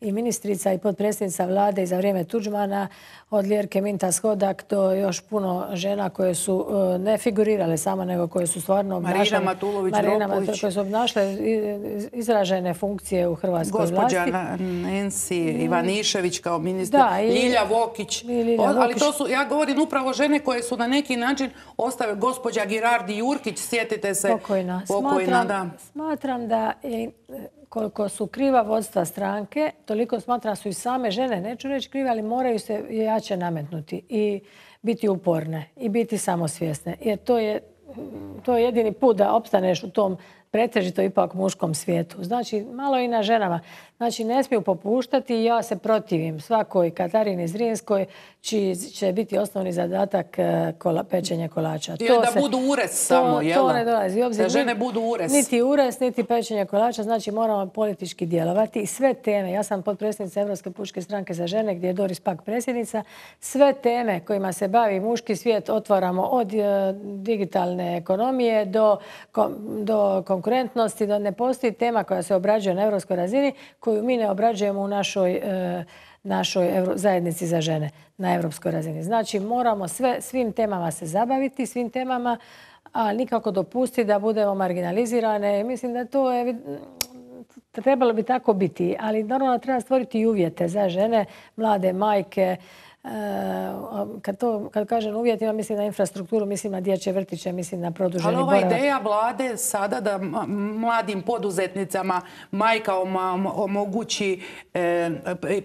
i ministrica i potpredsjednica vlade i za vrijeme Tuđmana, od Ljerke Mintas-Hodak do još puno žena koje su ne figurirale samo, nego koje su stvarno obnašale, Marina Matulović-Dropulić, koje su obnašale izražene funkcije u hrvatskoj Gospođa vlasti. Gospođa Nancy Ivanišević kao ministar, da, i, Ljilja Vokić. I Ljilja Vokić. Ali to su, ja govorim upravo žene koje su na neki način ostave. Gospođa Girardi Jurkić, sjetite se. Pokojna. Pokojna, smatram, da. Smatram da je, koliko su kriva vodstva stranke, toliko smatram su i same žene, neću reći krive, ali moraju se jače nametnuti i biti uporne i biti samosvjesne. Jer to je, to je jedini put da opstaneš u tom pretežito ipak muškom svijetu. Znači, malo i na ženama. Znači, ne smiju popuštati i ja se protivim svakoj Katarini Zrinskoj čiji će biti osnovni zadatak kola, pečenje kolača. I da se, budu ures samo, jel? To ne dolazi u obzir. Da žene budu ures. Niti ures, niti pečenje kolača. Znači, moramo politički djelovati. I sve teme, ja sam potpredsjednica Europske pučke stranke za žene, gdje je Doris Pak predsjednica, sve teme kojima se bavi muški svijet otvaramo od digitalne ekonomije do, do konkurentnosti, da ne postoji tema koja se obrađuje na europskoj razini koju mi ne obrađujemo u našoj, e, našoj evro, zajednici za žene na europskoj razini. Znači, moramo sve, svim temama se zabaviti, svim temama, a nikako dopustiti da budemo marginalizirane. Mislim da to je, trebalo bi tako biti, ali normalno treba stvoriti i uvjete za žene, mlade majke. Kad, to, kad kažem uvjetima, mislim na infrastrukturu, mislim na dječje vrtiće, mislim na produženi boravak. Ali ova ideja vlade sada da mladim poduzetnicama majka omogući e,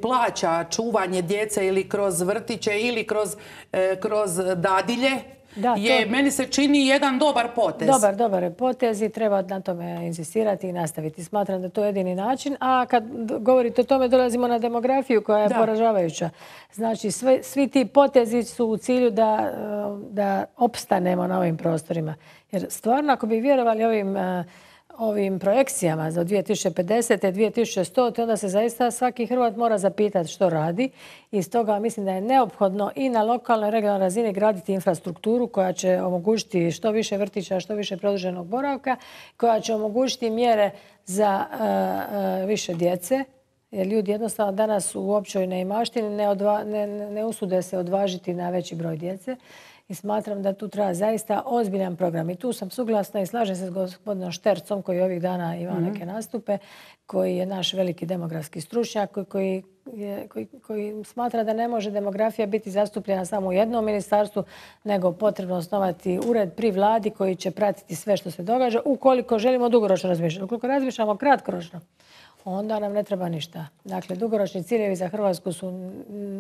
plaća čuvanje djece ili kroz vrtiće ili kroz, e, kroz dadilje, da, je, to... meni se čini jedan dobar potez. Dobar, dobar je potez i treba na tome insistirati i nastaviti. Smatram da to je jedini način. A kad govorite o tome, dolazimo na demografiju koja je da. poražavajuća. Znači, sve, svi ti potezi su u cilju da, da opstanemo na ovim prostorima. Jer stvarno, ako bi vjerovali ovim ovim projekcijama za dvije tisuće pedesete. dvije tisuće stotine. onda se zaista svaki Hrvat mora zapitati što radi. I stoga mislim da je neophodno i na lokalnoj i regionalnoj razini graditi infrastrukturu koja će omogućiti što više vrtića, što više produženog boravka, koja će omogućiti mjere za uh, uh, više djece. Jer ljudi jednostavno danas u općoj neimaštini ne, odva, ne, ne usude se odvažiti na veći broj djece. I smatram da tu treba zaista ozbiljan program. I tu sam suglasna i slažem se s gospodinom Štercom koji ovih dana ima mm-hmm. neke nastupe, koji je naš veliki demografski stručnjak, koji, je, koji, koji smatra da ne može demografija biti zastupljena samo u jednom ministarstvu, nego potrebno osnovati ured pri vladi koji će pratiti sve što se događa ukoliko želimo dugoročno razmišljati. Ukoliko razmišljamo kratkoročno, onda nam ne treba ništa. Dakle, dugoročni ciljevi za Hrvatsku su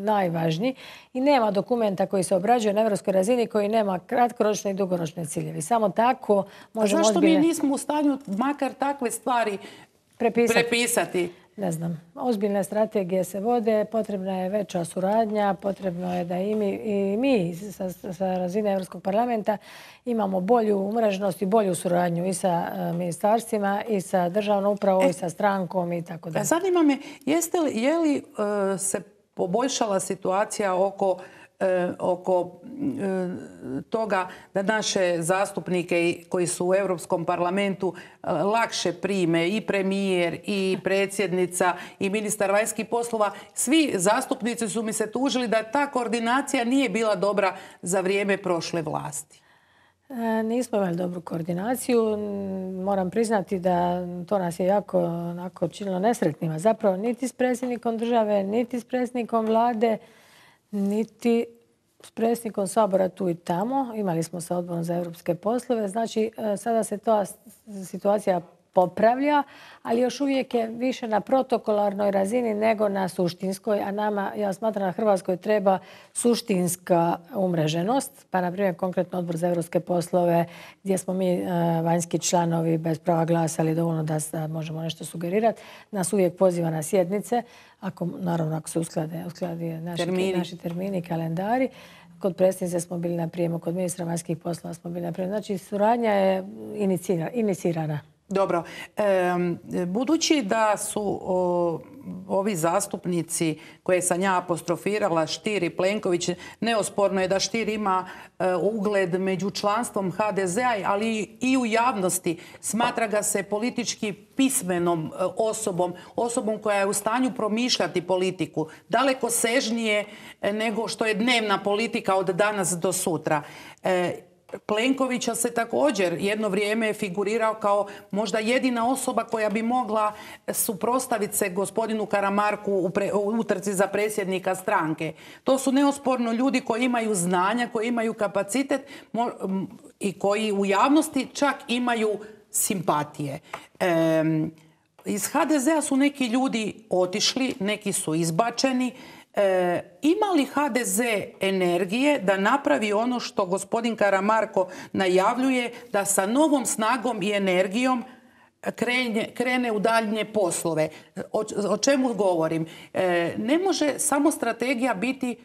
najvažniji i nema dokumenta koji se obrađuje na europskoj razini koji nema kratkoročne i dugoročne ciljevi. Samo tako možemo zašto ozbiljne... mi nismo u stanju makar takve stvari prepisati? prepisati? Ne znam. Ozbiljne strategije se vode, potrebna je veća suradnja, potrebno je da i mi, i mi sa, sa razine Europskog parlamenta imamo bolju umreženost i bolju suradnju i sa uh, ministarstvima i sa državnom upravom e, i sa strankom i tako dalje. Zanima me, jeste li, je li uh, se poboljšala situacija oko oko toga da naše zastupnike koji su u Europskom parlamentu lakše prime i premijer i predsjednica i ministar vanjskih poslova. Svi zastupnici su mi se tužili da ta koordinacija nije bila dobra za vrijeme prošle vlasti. Nismo imali dobru koordinaciju. Moram priznati da to nas je jako onako činilo nesretnima. Zapravo niti s predsjednikom države, niti s predsjednikom vlade, niti s predsjednikom Sabora tu i tamo. Imali smo sa odborom za europske poslove. Znači, sada se ta situacija popravlja, ali još uvijek je više na protokolarnoj razini nego na suštinskoj, a nama, ja smatram, na Hrvatskoj treba suštinska umreženost. Pa, na primjer, konkretno odbor za europske poslove, gdje smo mi vanjski članovi bez prava glasa, ali dovoljno da možemo nešto sugerirati, nas uvijek poziva na sjednice, ako, naravno ako se usklade, usklade naši termini. naši termini i kalendari. Kod predsjednice smo bili na prijemu, kod ministra vanjskih poslova smo bili na prijemu. Znači, suradnja je inicirana. Dobro. E, budući da su o, ovi zastupnici koje sam ja apostrofirala, Stier i Plenković, neosporno je da Stier ima e, ugled među članstvom ha de zea, ali i u javnosti. Smatra ga se politički pismenom e, osobom, osobom koja je u stanju promišljati politiku, daleko sežnije e, nego što je dnevna politika od danas do sutra. E, Plenkovića se također jedno vrijeme figurirao kao možda jedina osoba koja bi mogla suprotstaviti se gospodinu Karamarku u, pre, u utrci za predsjednika stranke. To su neosporno ljudi koji imaju znanja, koji imaju kapacitet mo, i koji u javnosti čak imaju simpatije. E, iz ha de zea su neki ljudi otišli, neki su izbačeni. E, ima li ha de ze energije da napravi ono što gospodin Karamarko najavljuje, da sa novom snagom i energijom krene, krene u daljnje poslove? O, o čemu govorim? E, ne može samo strategija biti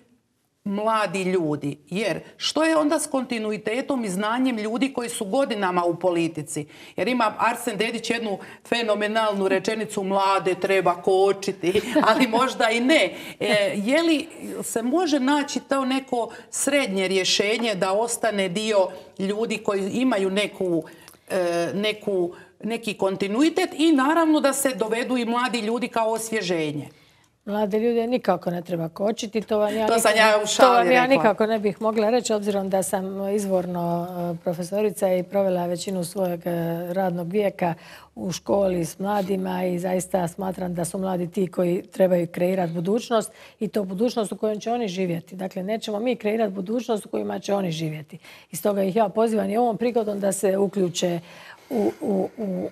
mladi ljudi, jer što je onda s kontinuitetom i znanjem ljudi koji su godinama u politici? Jer ima Arsen Dedić jednu fenomenalnu rečenicu: mlade treba kočiti, ali možda i ne. E, je li se može naći to neko srednje rješenje da ostane dio ljudi koji imaju neku, e, neku, neki kontinuitet i naravno da se dovedu i mladi ljudi kao osvježenje? Mlade ljude nikako ne treba kočiti. To vam ja, to nikako, ja, u šali to vam ja rekla. nikako ne bih mogla reći, obzirom da sam izvorno profesorica i provela većinu svojeg radnog vijeka u školi s mladima i zaista smatram da su mladi ti koji trebaju kreirati budućnost i to budućnost u kojoj će oni živjeti. Dakle, nećemo mi kreirati budućnost u kojima će oni živjeti. I stoga ih ja pozivam i ovom prigodom da se uključe u, u, u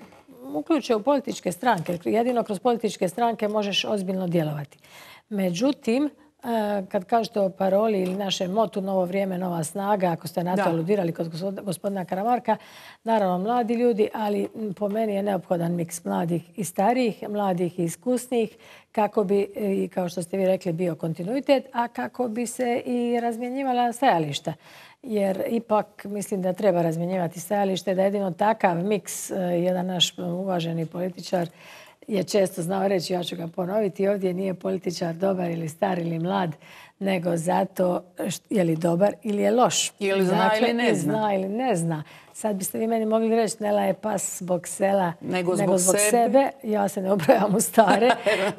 uključe u političke stranke. Jedino kroz političke stranke možeš ozbiljno djelovati. Međutim, Kad kažete o paroli ili našem motu Novo vrijeme, nova snaga, ako ste na to aludirali kod gospodina Karamarka, naravno mladi ljudi, ali po meni je neophodan miks mladih i starijih, mladih i iskusnijih, kako bi, i kao što ste vi rekli, bio kontinuitet, a kako bi se i razmjenjivala stajališta. Jer ipak mislim da treba razmjenjivati stajalište, da jedino takav miks, jedan naš uvaženi političar je često znao reći, ja ću ga ponoviti, ovdje nije političar dobar ili star ili mlad, nego zato je li dobar ili je loš. Ili zna dakle, ili ne zna. zna ili ne zna. Sad biste vi meni mogli reći, Nela je pas zbog sela, nego nego zbog, zbog sebe. sebe. Ja se ne obrojam u stare,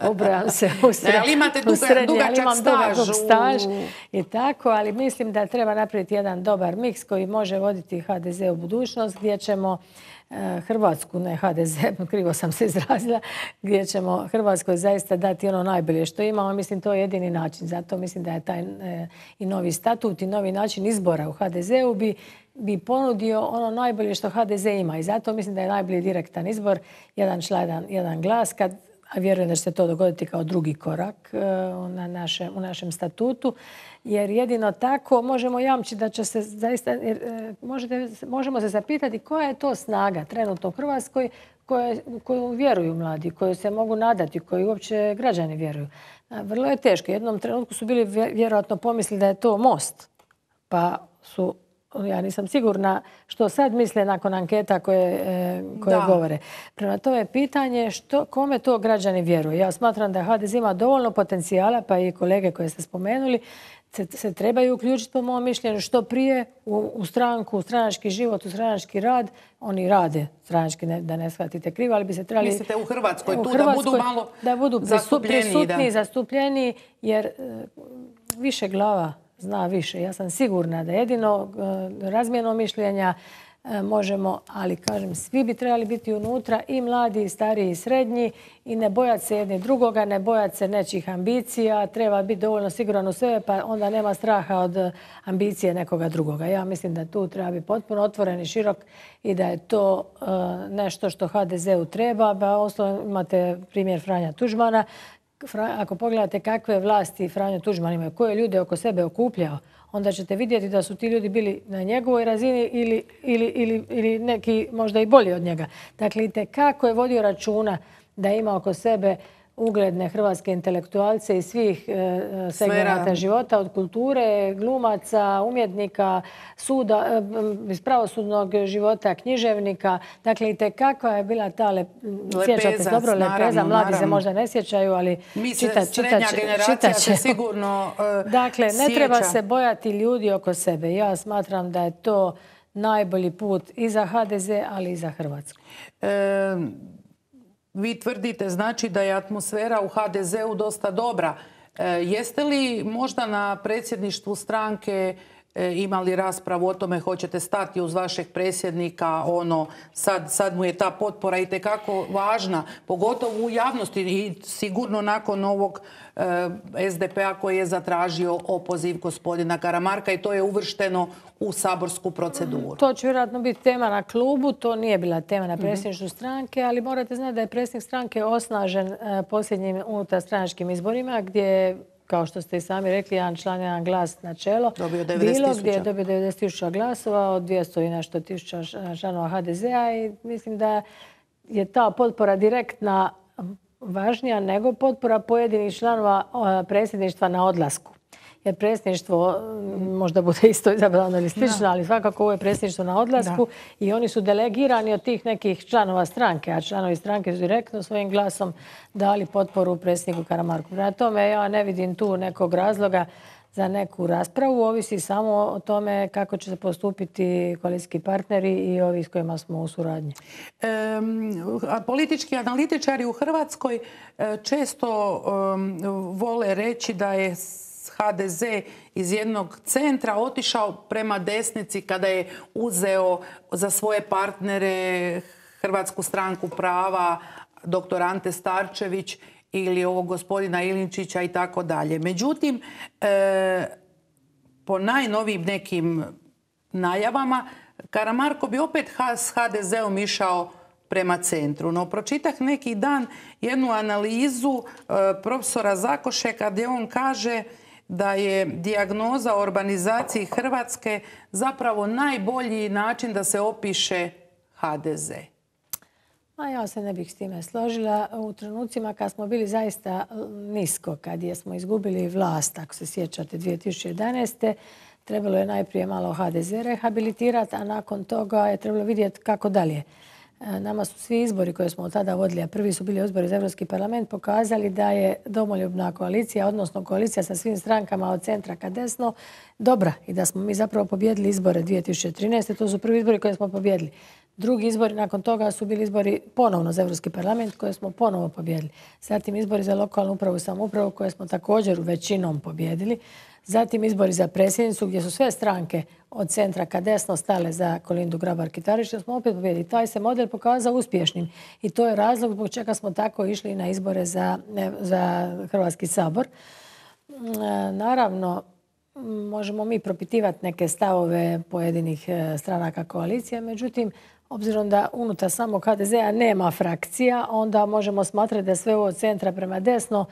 obrojam se u srednje. Ali imate duga, dugačak staž. staž i tako, ali mislim da treba napraviti jedan dobar miks koji može voditi ha de ze u budućnost, gdje ćemo Hrvatsku, ne ha de ze, krivo sam se izrazila, gdje ćemo Hrvatskoj zaista dati ono najbolje što imamo. Mislim, to je jedini način. Zato mislim da je taj e, i novi statut i novi način izbora u ha de zeu bi, bi ponudio ono najbolje što ha de ze ima. I zato mislim da je najbolji direktan izbor, jedan član, jedan, jedan glas, kad, a vjerujem da će se to dogoditi kao drugi korak e, na naše, u našem statutu. Jer jedino tako možemo jamčiti da će se zaista, jer, e, možete, možemo se zapitati koja je to snaga trenutno u Hrvatskoj koje, koju vjeruju mladi, koju se mogu nadati, koju uopće građani vjeruju. A, vrlo je teško. U jednom trenutku su bili vjerojatno pomislili da je to Most. Pa su, ja nisam sigurna što sad misle nakon anketa koje, e, koje govore. Prema tome pitanje što, kome to građani vjeruju. Ja smatram da ha de ze ima dovoljno potencijala, pa i kolege koje ste spomenuli, se, se trebaju uključiti po mom mišljenju što prije u, u stranku, u stranački život, u stranački rad. Oni rade stranački, ne, da ne shvatite krivo, ali bi se trebali... Mislite u Hrvatskoj, u tu Hrvatskoj, da budu malo da budu prisutni, da. zastupljeni, jer e, više glava zna više. Ja sam sigurna da jedino e, razmjenom mišljenja e, možemo, ali kažem, svi bi trebali biti unutra, i mladi, i stariji, i srednji, i ne bojati se jedni drugoga, ne bojati se nečih ambicija, treba biti dovoljno siguran u sebe, pa onda nema straha od ambicije nekoga drugoga. Ja mislim da tu treba biti potpuno otvoren i širok i da je to e, nešto što ha de zeu treba. Ba, osnovno imate primjer Franja Tuđmana. Ako pogledate kakve vlasti Franjo Tuđman imaju, koje ljude oko sebe okupljao, onda ćete vidjeti da su ti ljudi bili na njegovoj razini ili, ili, ili, ili neki možda i bolji od njega. Dakle, itekako je vodio računa da ima oko sebe ugledne hrvatske intelektualce iz svih e, segmenata života, od kulture, glumaca, umjetnika, suda, e, iz pravosudnog života, književnika. Dakle, itekako je bila ta lep, sjećate se dobro, lepeza, mladi naravno se možda ne sjećaju, ali čita, čita, čita će. Sigurno uh, dakle, ne sjeća. Treba se bojati ljudi oko sebe. Ja smatram da je to najbolji put i za ha de ze, ali i za Hrvatsku. E, Vi tvrdite znači da je atmosfera u ha de zeu dosta dobra. E, jeste li možda na predsjedništvu stranke e, imali raspravu o tome hoćete stati uz vašeg predsjednika, ono, sad, sad mu je ta potpora itekako važna, pogotovo u javnosti i sigurno nakon ovog e, es de pe a koji je zatražio opoziv gospodina Karamarka i to je uvršteno u saborsku proceduru. To će vjerojatno biti tema na klubu, to nije bila tema na predsjedništvu stranke, ali morate znati da je predsjednik stranke osnažen posljednjim unutarstranačkim izborima, gdje, kao što ste i sami rekli, jedan član, jedan glas na čelo. Dobio devedeset tisuća. Bilo gdje je dobio devedeset tisuća glasova od dvjesto i nešto tisuća članova ha de zea i mislim da je ta potpora direktna važnija nego potpora pojedinih članova predsjedništva na odlasku. Jer predsjedništvo možda bude isto izabrano ili slično, ali svakako ovo je predsjedništvo na odlasku da. I oni su delegirani od tih nekih članova stranke, a članovi stranke su direktno svojim glasom dali potporu predsjedniku Karamarku. Prema tome ja ne vidim tu nekog razloga za neku raspravu, ovisi samo o tome kako će se postupiti koalicijski partneri i ovi s kojima smo u suradnji. E, politički analitičari u Hrvatskoj često um, vole reći da je ha de ze iz jednog centra otišao prema desnici kada je uzeo za svoje partnere Hrvatsku stranku prava, doktor Ante Starčević ili ovog gospodina Ilinčića i tako dalje. Međutim, e, po najnovijim nekim najavama, Karamarko bi opet s ha de zeom išao prema centru. No, pročitah neki dan jednu analizu e, profesora Zakošeka gdje on kaže da je dijagnoza o urbanizaciji Hrvatske zapravo najbolji način da se opiše ha de ze? A ja se ne bih s time složila. U trenucima kad smo bili zaista nisko, kad smo izgubili vlast, ako se sjećate, dvije tisuće jedanaeste. trebalo je najprije malo ha de ze rehabilitirati, a nakon toga je trebalo vidjeti kako dalje. Nama su svi izbori koje smo od tada vodili, a prvi su bili izbori za Europski parlament, pokazali da je domoljubna koalicija, odnosno koalicija sa svim strankama od centra ka desno, dobra i da smo mi zapravo pobjedili izbore dvije tisuće trinaeste. To su prvi izbori koje smo pobjedili. Drugi izbori nakon toga su bili izbori ponovno za Europski parlament koje smo ponovo pobjedili. Zatim izbori za lokalnu upravu i samoupravu koje smo također većinom pobjedili. Zatim izbori za predsjednicu gdje su sve stranke od centra ka desno stale za Kolindu Grabar-Kitarović, smo opet pobjedili. Taj se model pokazao uspješnim i to je razlog zbog čega smo tako išli na izbore za, za Hrvatski sabor. Naravno, možemo mi propitivati neke stavove pojedinih stranaka koalicije, međutim, obzirom da unutar samog ha de zea nema frakcija, onda možemo smatrati da sve ovo od centra prema desno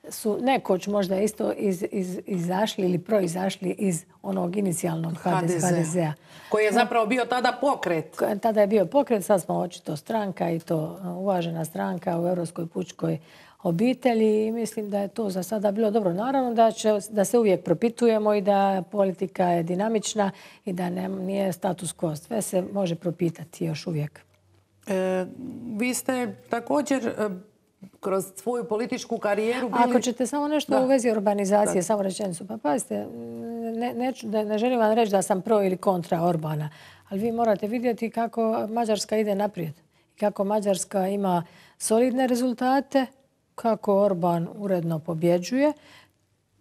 su nekoć možda isto iz, iz, izašli ili proizašli iz onog inicijalnog ha de zea. Koji je zapravo bio tada pokret. Tada je bio pokret, sad smo očito stranka i to uvažena stranka u Europskoj pučkoj obitelji i mislim da je to za sada bilo dobro. Naravno da, će, da se uvijek propitujemo i da politika je dinamična i da ne, nije status quo. Sve se može propitati još uvijek. E, vi ste također e, kroz svoju političku karijeru bili... Ako ćete samo nešto da. u vezi urbanizacije, da. samo rečenicu. Pa pazite, ne, neću, ne želim vam reći da sam pro ili kontra Orbana, ali vi morate vidjeti kako Mađarska ide naprijed. Kako Mađarska ima solidne rezultate, kako Orban uredno pobjeđuje,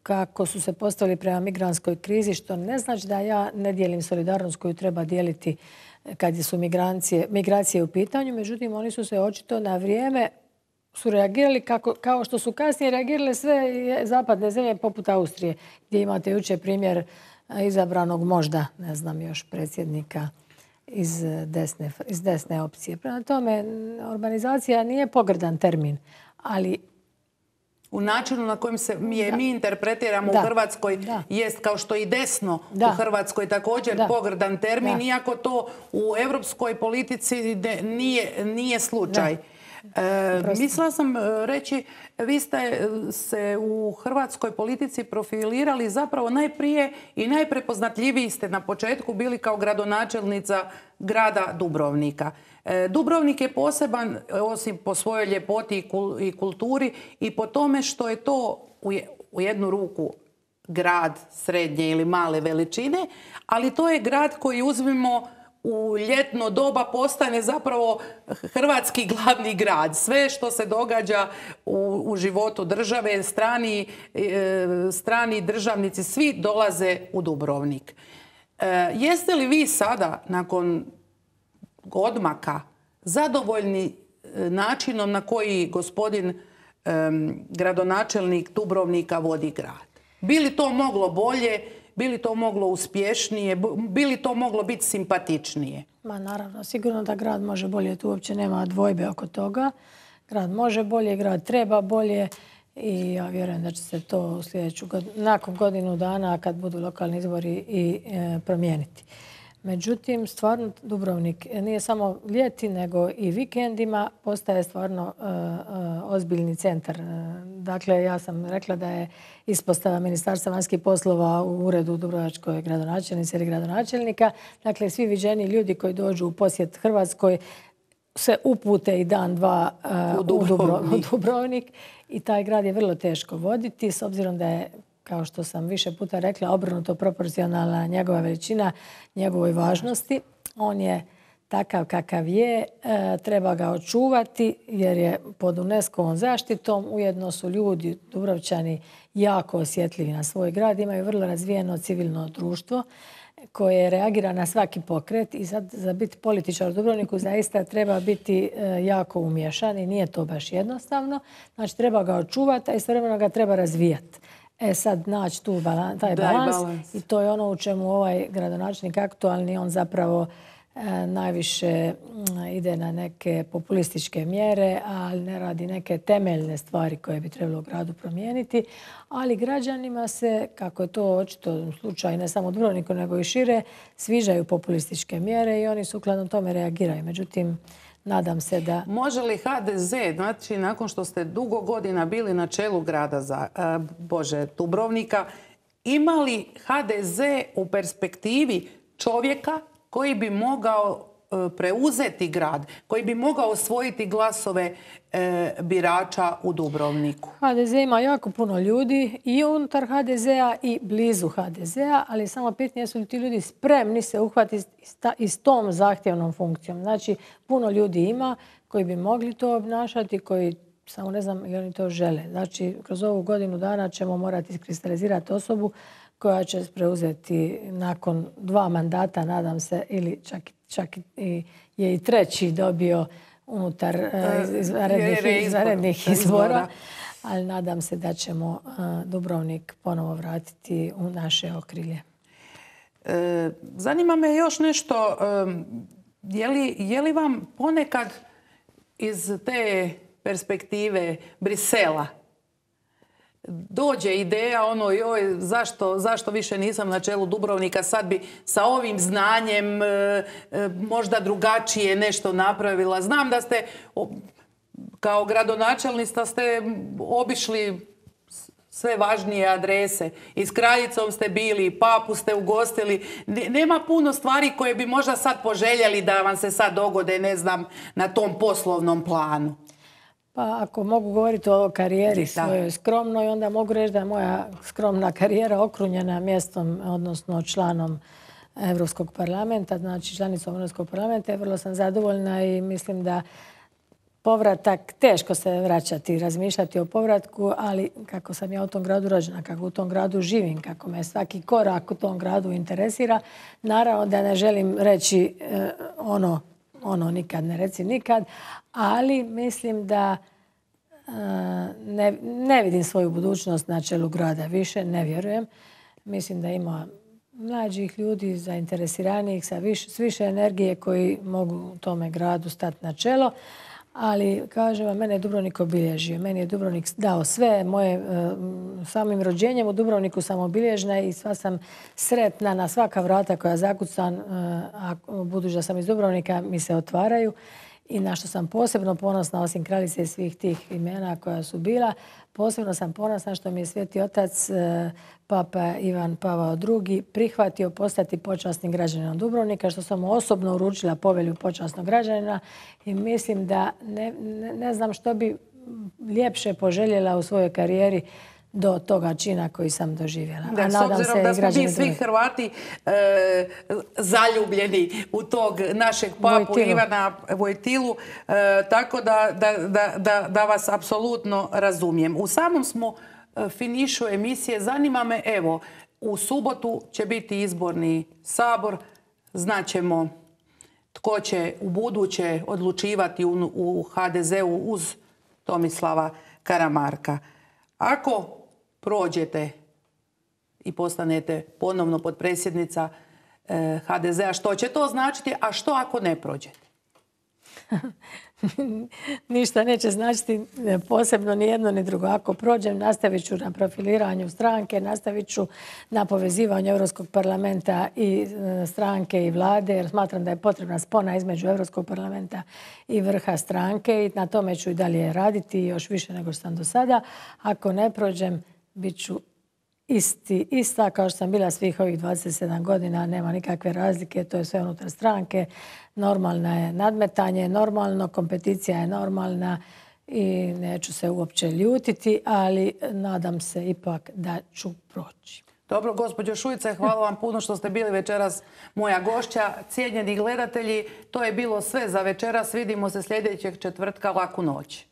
kako su se postavili prema migrantskoj krizi, što ne znači da ja ne dijelim solidarnost koju treba dijeliti kad su migracije, migracije u pitanju. Međutim, oni su se očito na vrijeme su reagirali kako, kao što su kasnije reagirale sve zapadne zemlje poput Austrije, gdje imate jučer primjer izabranog možda, ne znam još, predsjednika iz desne, iz desne opcije. Prema tome, urbanizacija nije pogrdan termin, ali u načinu na kojem se mi, da. mi interpretiramo da. u Hrvatskoj da. jest kao što i desno da. u Hrvatskoj također da. pogrdan termin, da. iako to u europskoj politici nije, nije slučaj. E, mislila sam reći, vi ste se u hrvatskoj politici profilirali zapravo najprije i najprepoznatljiviji ste na početku bili kao gradonačelnica grada Dubrovnika. E, Dubrovnik je poseban osim po svojoj ljepoti i kulturi i po tome što je to u, u jednu ruku grad srednje ili male veličine, ali to je grad koji uzmimo u ljetno doba postane zapravo hrvatski glavni grad. Sve što se događa u, u životu države, strani, e, strani državnici, svi dolaze u Dubrovnik. E, jeste li vi sada, nakon odmaka, zadovoljni načinom na koji gospodin e, gradonačelnik Dubrovnika vodi grad? Bi li to moglo bolje? Bi li to moglo uspješnije? Bi li to moglo biti simpatičnije? Ma naravno, sigurno da grad može bolje. Tu uopće nema dvojbe oko toga. Grad može bolje, grad treba bolje i ja vjerujem da će se to u sljedeću godinu, nakon godinu dana kad budu lokalni izbori i e, promijeniti. Međutim, stvarno Dubrovnik nije samo ljeti, nego i vikendima postaje stvarno e, e, ozbiljni centar. Dakle, ja sam rekla da je ispostava Ministarstva vanjskih poslova u uredu dubrovačkoj gradonačelnice ili gradonačelnika. Dakle, svi viđeni ljudi koji dođu u posjet Hrvatskoj se upute i dan, dva uh, u, Dubrovnik. u Dubrovnik. I taj grad je vrlo teško voditi, s obzirom da je, kao što sam više puta rekla, obrnuto proporcionalna njegova veličina, njegovoj važnosti. On je takav kakav je, e, treba ga očuvati jer je pod UNESCO-ovom zaštitom. Ujedno su ljudi, Dubrovčani, jako osjetljivi na svoj grad. Imaju vrlo razvijeno civilno društvo koje reagira na svaki pokret i sad za biti političar u Dubrovniku zaista treba biti e, jako umješan i nije to baš jednostavno. Znači treba ga očuvati, a istovremeno ga treba razvijati. E sad naći tu balan, taj balans, balans i to je ono u čemu ovaj gradonačelnik aktualni, on zapravo najviše ide na neke populističke mjere, ali ne radi neke temeljne stvari koje bi trebalo u gradu promijeniti. Ali građanima se, kako je to očito slučaj ne samo u Dubrovniku nego i šire, sviđaju populističke mjere i oni sukladno tome reagiraju. Međutim, nadam se da... Može li ha de ze, znači nakon što ste dugo godina bili na čelu grada za, a, Bože, Dubrovnika, ima li ha de ze u perspektivi čovjeka koji bi mogao e, preuzeti grad, koji bi mogao osvojiti glasove e, birača u Dubrovniku? ha de ze ima jako puno ljudi i unutar ha de zea i blizu ha de zea, ali samo pitanje su li ti ljudi spremni se uhvatiti i s tom zahtjevnom funkcijom. Znači, puno ljudi ima koji bi mogli to obnašati, koji samo ne znam ili oni to žele. Znači, kroz ovu godinu dana ćemo morati iskristalizirati osobu koja će preuzeti nakon dva mandata, nadam se, ili čak, čak i, je i treći dobio unutar izvanrednih, izvanrednih izbora. Ali nadam se da ćemo Dubrovnik ponovo vratiti u naše okrilje. E, zanima me još nešto. Je li, je li vam ponekad iz te perspektive Brisela dođe ideja ono joj zašto, zašto više nisam na čelu Dubrovnika, sad bi sa ovim znanjem e, e, možda drugačije nešto napravila. Znam da ste o, kao gradonačelnica ste obišli sve važnije adrese. I s kraljicom ste bili, papu ste ugostili. Nema puno stvari koje bi možda sad poželjeli da vam se sad dogode, ne znam, na tom poslovnom planu. Pa ako mogu govoriti o karijeri svojoj skromnoj, onda mogu reći da je moja skromna karijera okrunjena mjestom, odnosno članom Europskog parlamenta, znači članicom Europskog parlamenta. Vrlo sam zadovoljna i mislim da povratak, teško se vraćati i razmišljati o povratku, ali kako sam ja u tom gradu rođena, kako u tom gradu živim, kako me svaki korak u tom gradu interesira, naravno da ne želim reći eh, ono, ono nikad ne reci nikad, ali mislim da uh, ne, ne vidim svoju budućnost na čelu grada više, ne vjerujem. Mislim da ima mlađih ljudi, zainteresiranijih, sa više, s više energije koji mogu u tome gradu stati na čelo. Ali, kažem vam, mene je Dubrovnik obilježio. Meni je Dubrovnik dao sve. Moje, samim rođenjem u Dubrovniku sam obilježena i sva sam sretna na svaka vrata koja zakucam, a budući da sam iz Dubrovnika, mi se otvaraju. I na što sam posebno ponosna, osim kraljice i svih tih imena koja su bila, posebno sam ponosna što mi je Sveti Otac, Papa Ivan Pavao drugi, prihvatio postati počasnim građaninom Dubrovnika, što sam mu osobno uručila povelju počasnog građanina i mislim da ne, ne, ne znam što bi ljepše poželjela u svojoj karijeri do toga čina koji sam doživjela. Da, a s obzirom se da smo mi svi Hrvati e, zaljubljeni u tog našeg papu Vojtilu. Ivana Vojtilu, e, tako da, da, da, da, da vas apsolutno razumijem. U samom smo finišu emisije. Zanima me, evo, u subotu će biti izborni sabor. Znaćemo tko će u buduće odlučivati u, u ha de zeu uz Tomislava Karamarka. Ako prođete i postanete ponovno potpredsjednica eh, ha de zea, što će to značiti, a što ako ne prođete? Ništa neće značiti posebno ni jedno ni drugo. Ako prođem, nastavit ću na profiliranju stranke, nastavit ću na povezivanju Europskog parlamenta i stranke i vlade, jer smatram da je potrebna spona između Europskog parlamenta i vrha stranke i na tome ću i dalje raditi još više nego što sam do sada. Ako ne prođem, bit ću isti, ista kao što sam bila svih ovih dvadeset sedam godina, nema nikakve razlike, to je sve unutar stranke. Normalna je nadmetanje, normalno, kompeticija je normalna i neću se uopće ljutiti, ali nadam se ipak da ću proći. Dobro, gospođo Šuica, hvala vam puno što ste bili večeras moja gošća. Cijenjeni gledatelji, to je bilo sve za večeras. Vidimo se sljedećeg četvrtka. Laku noć.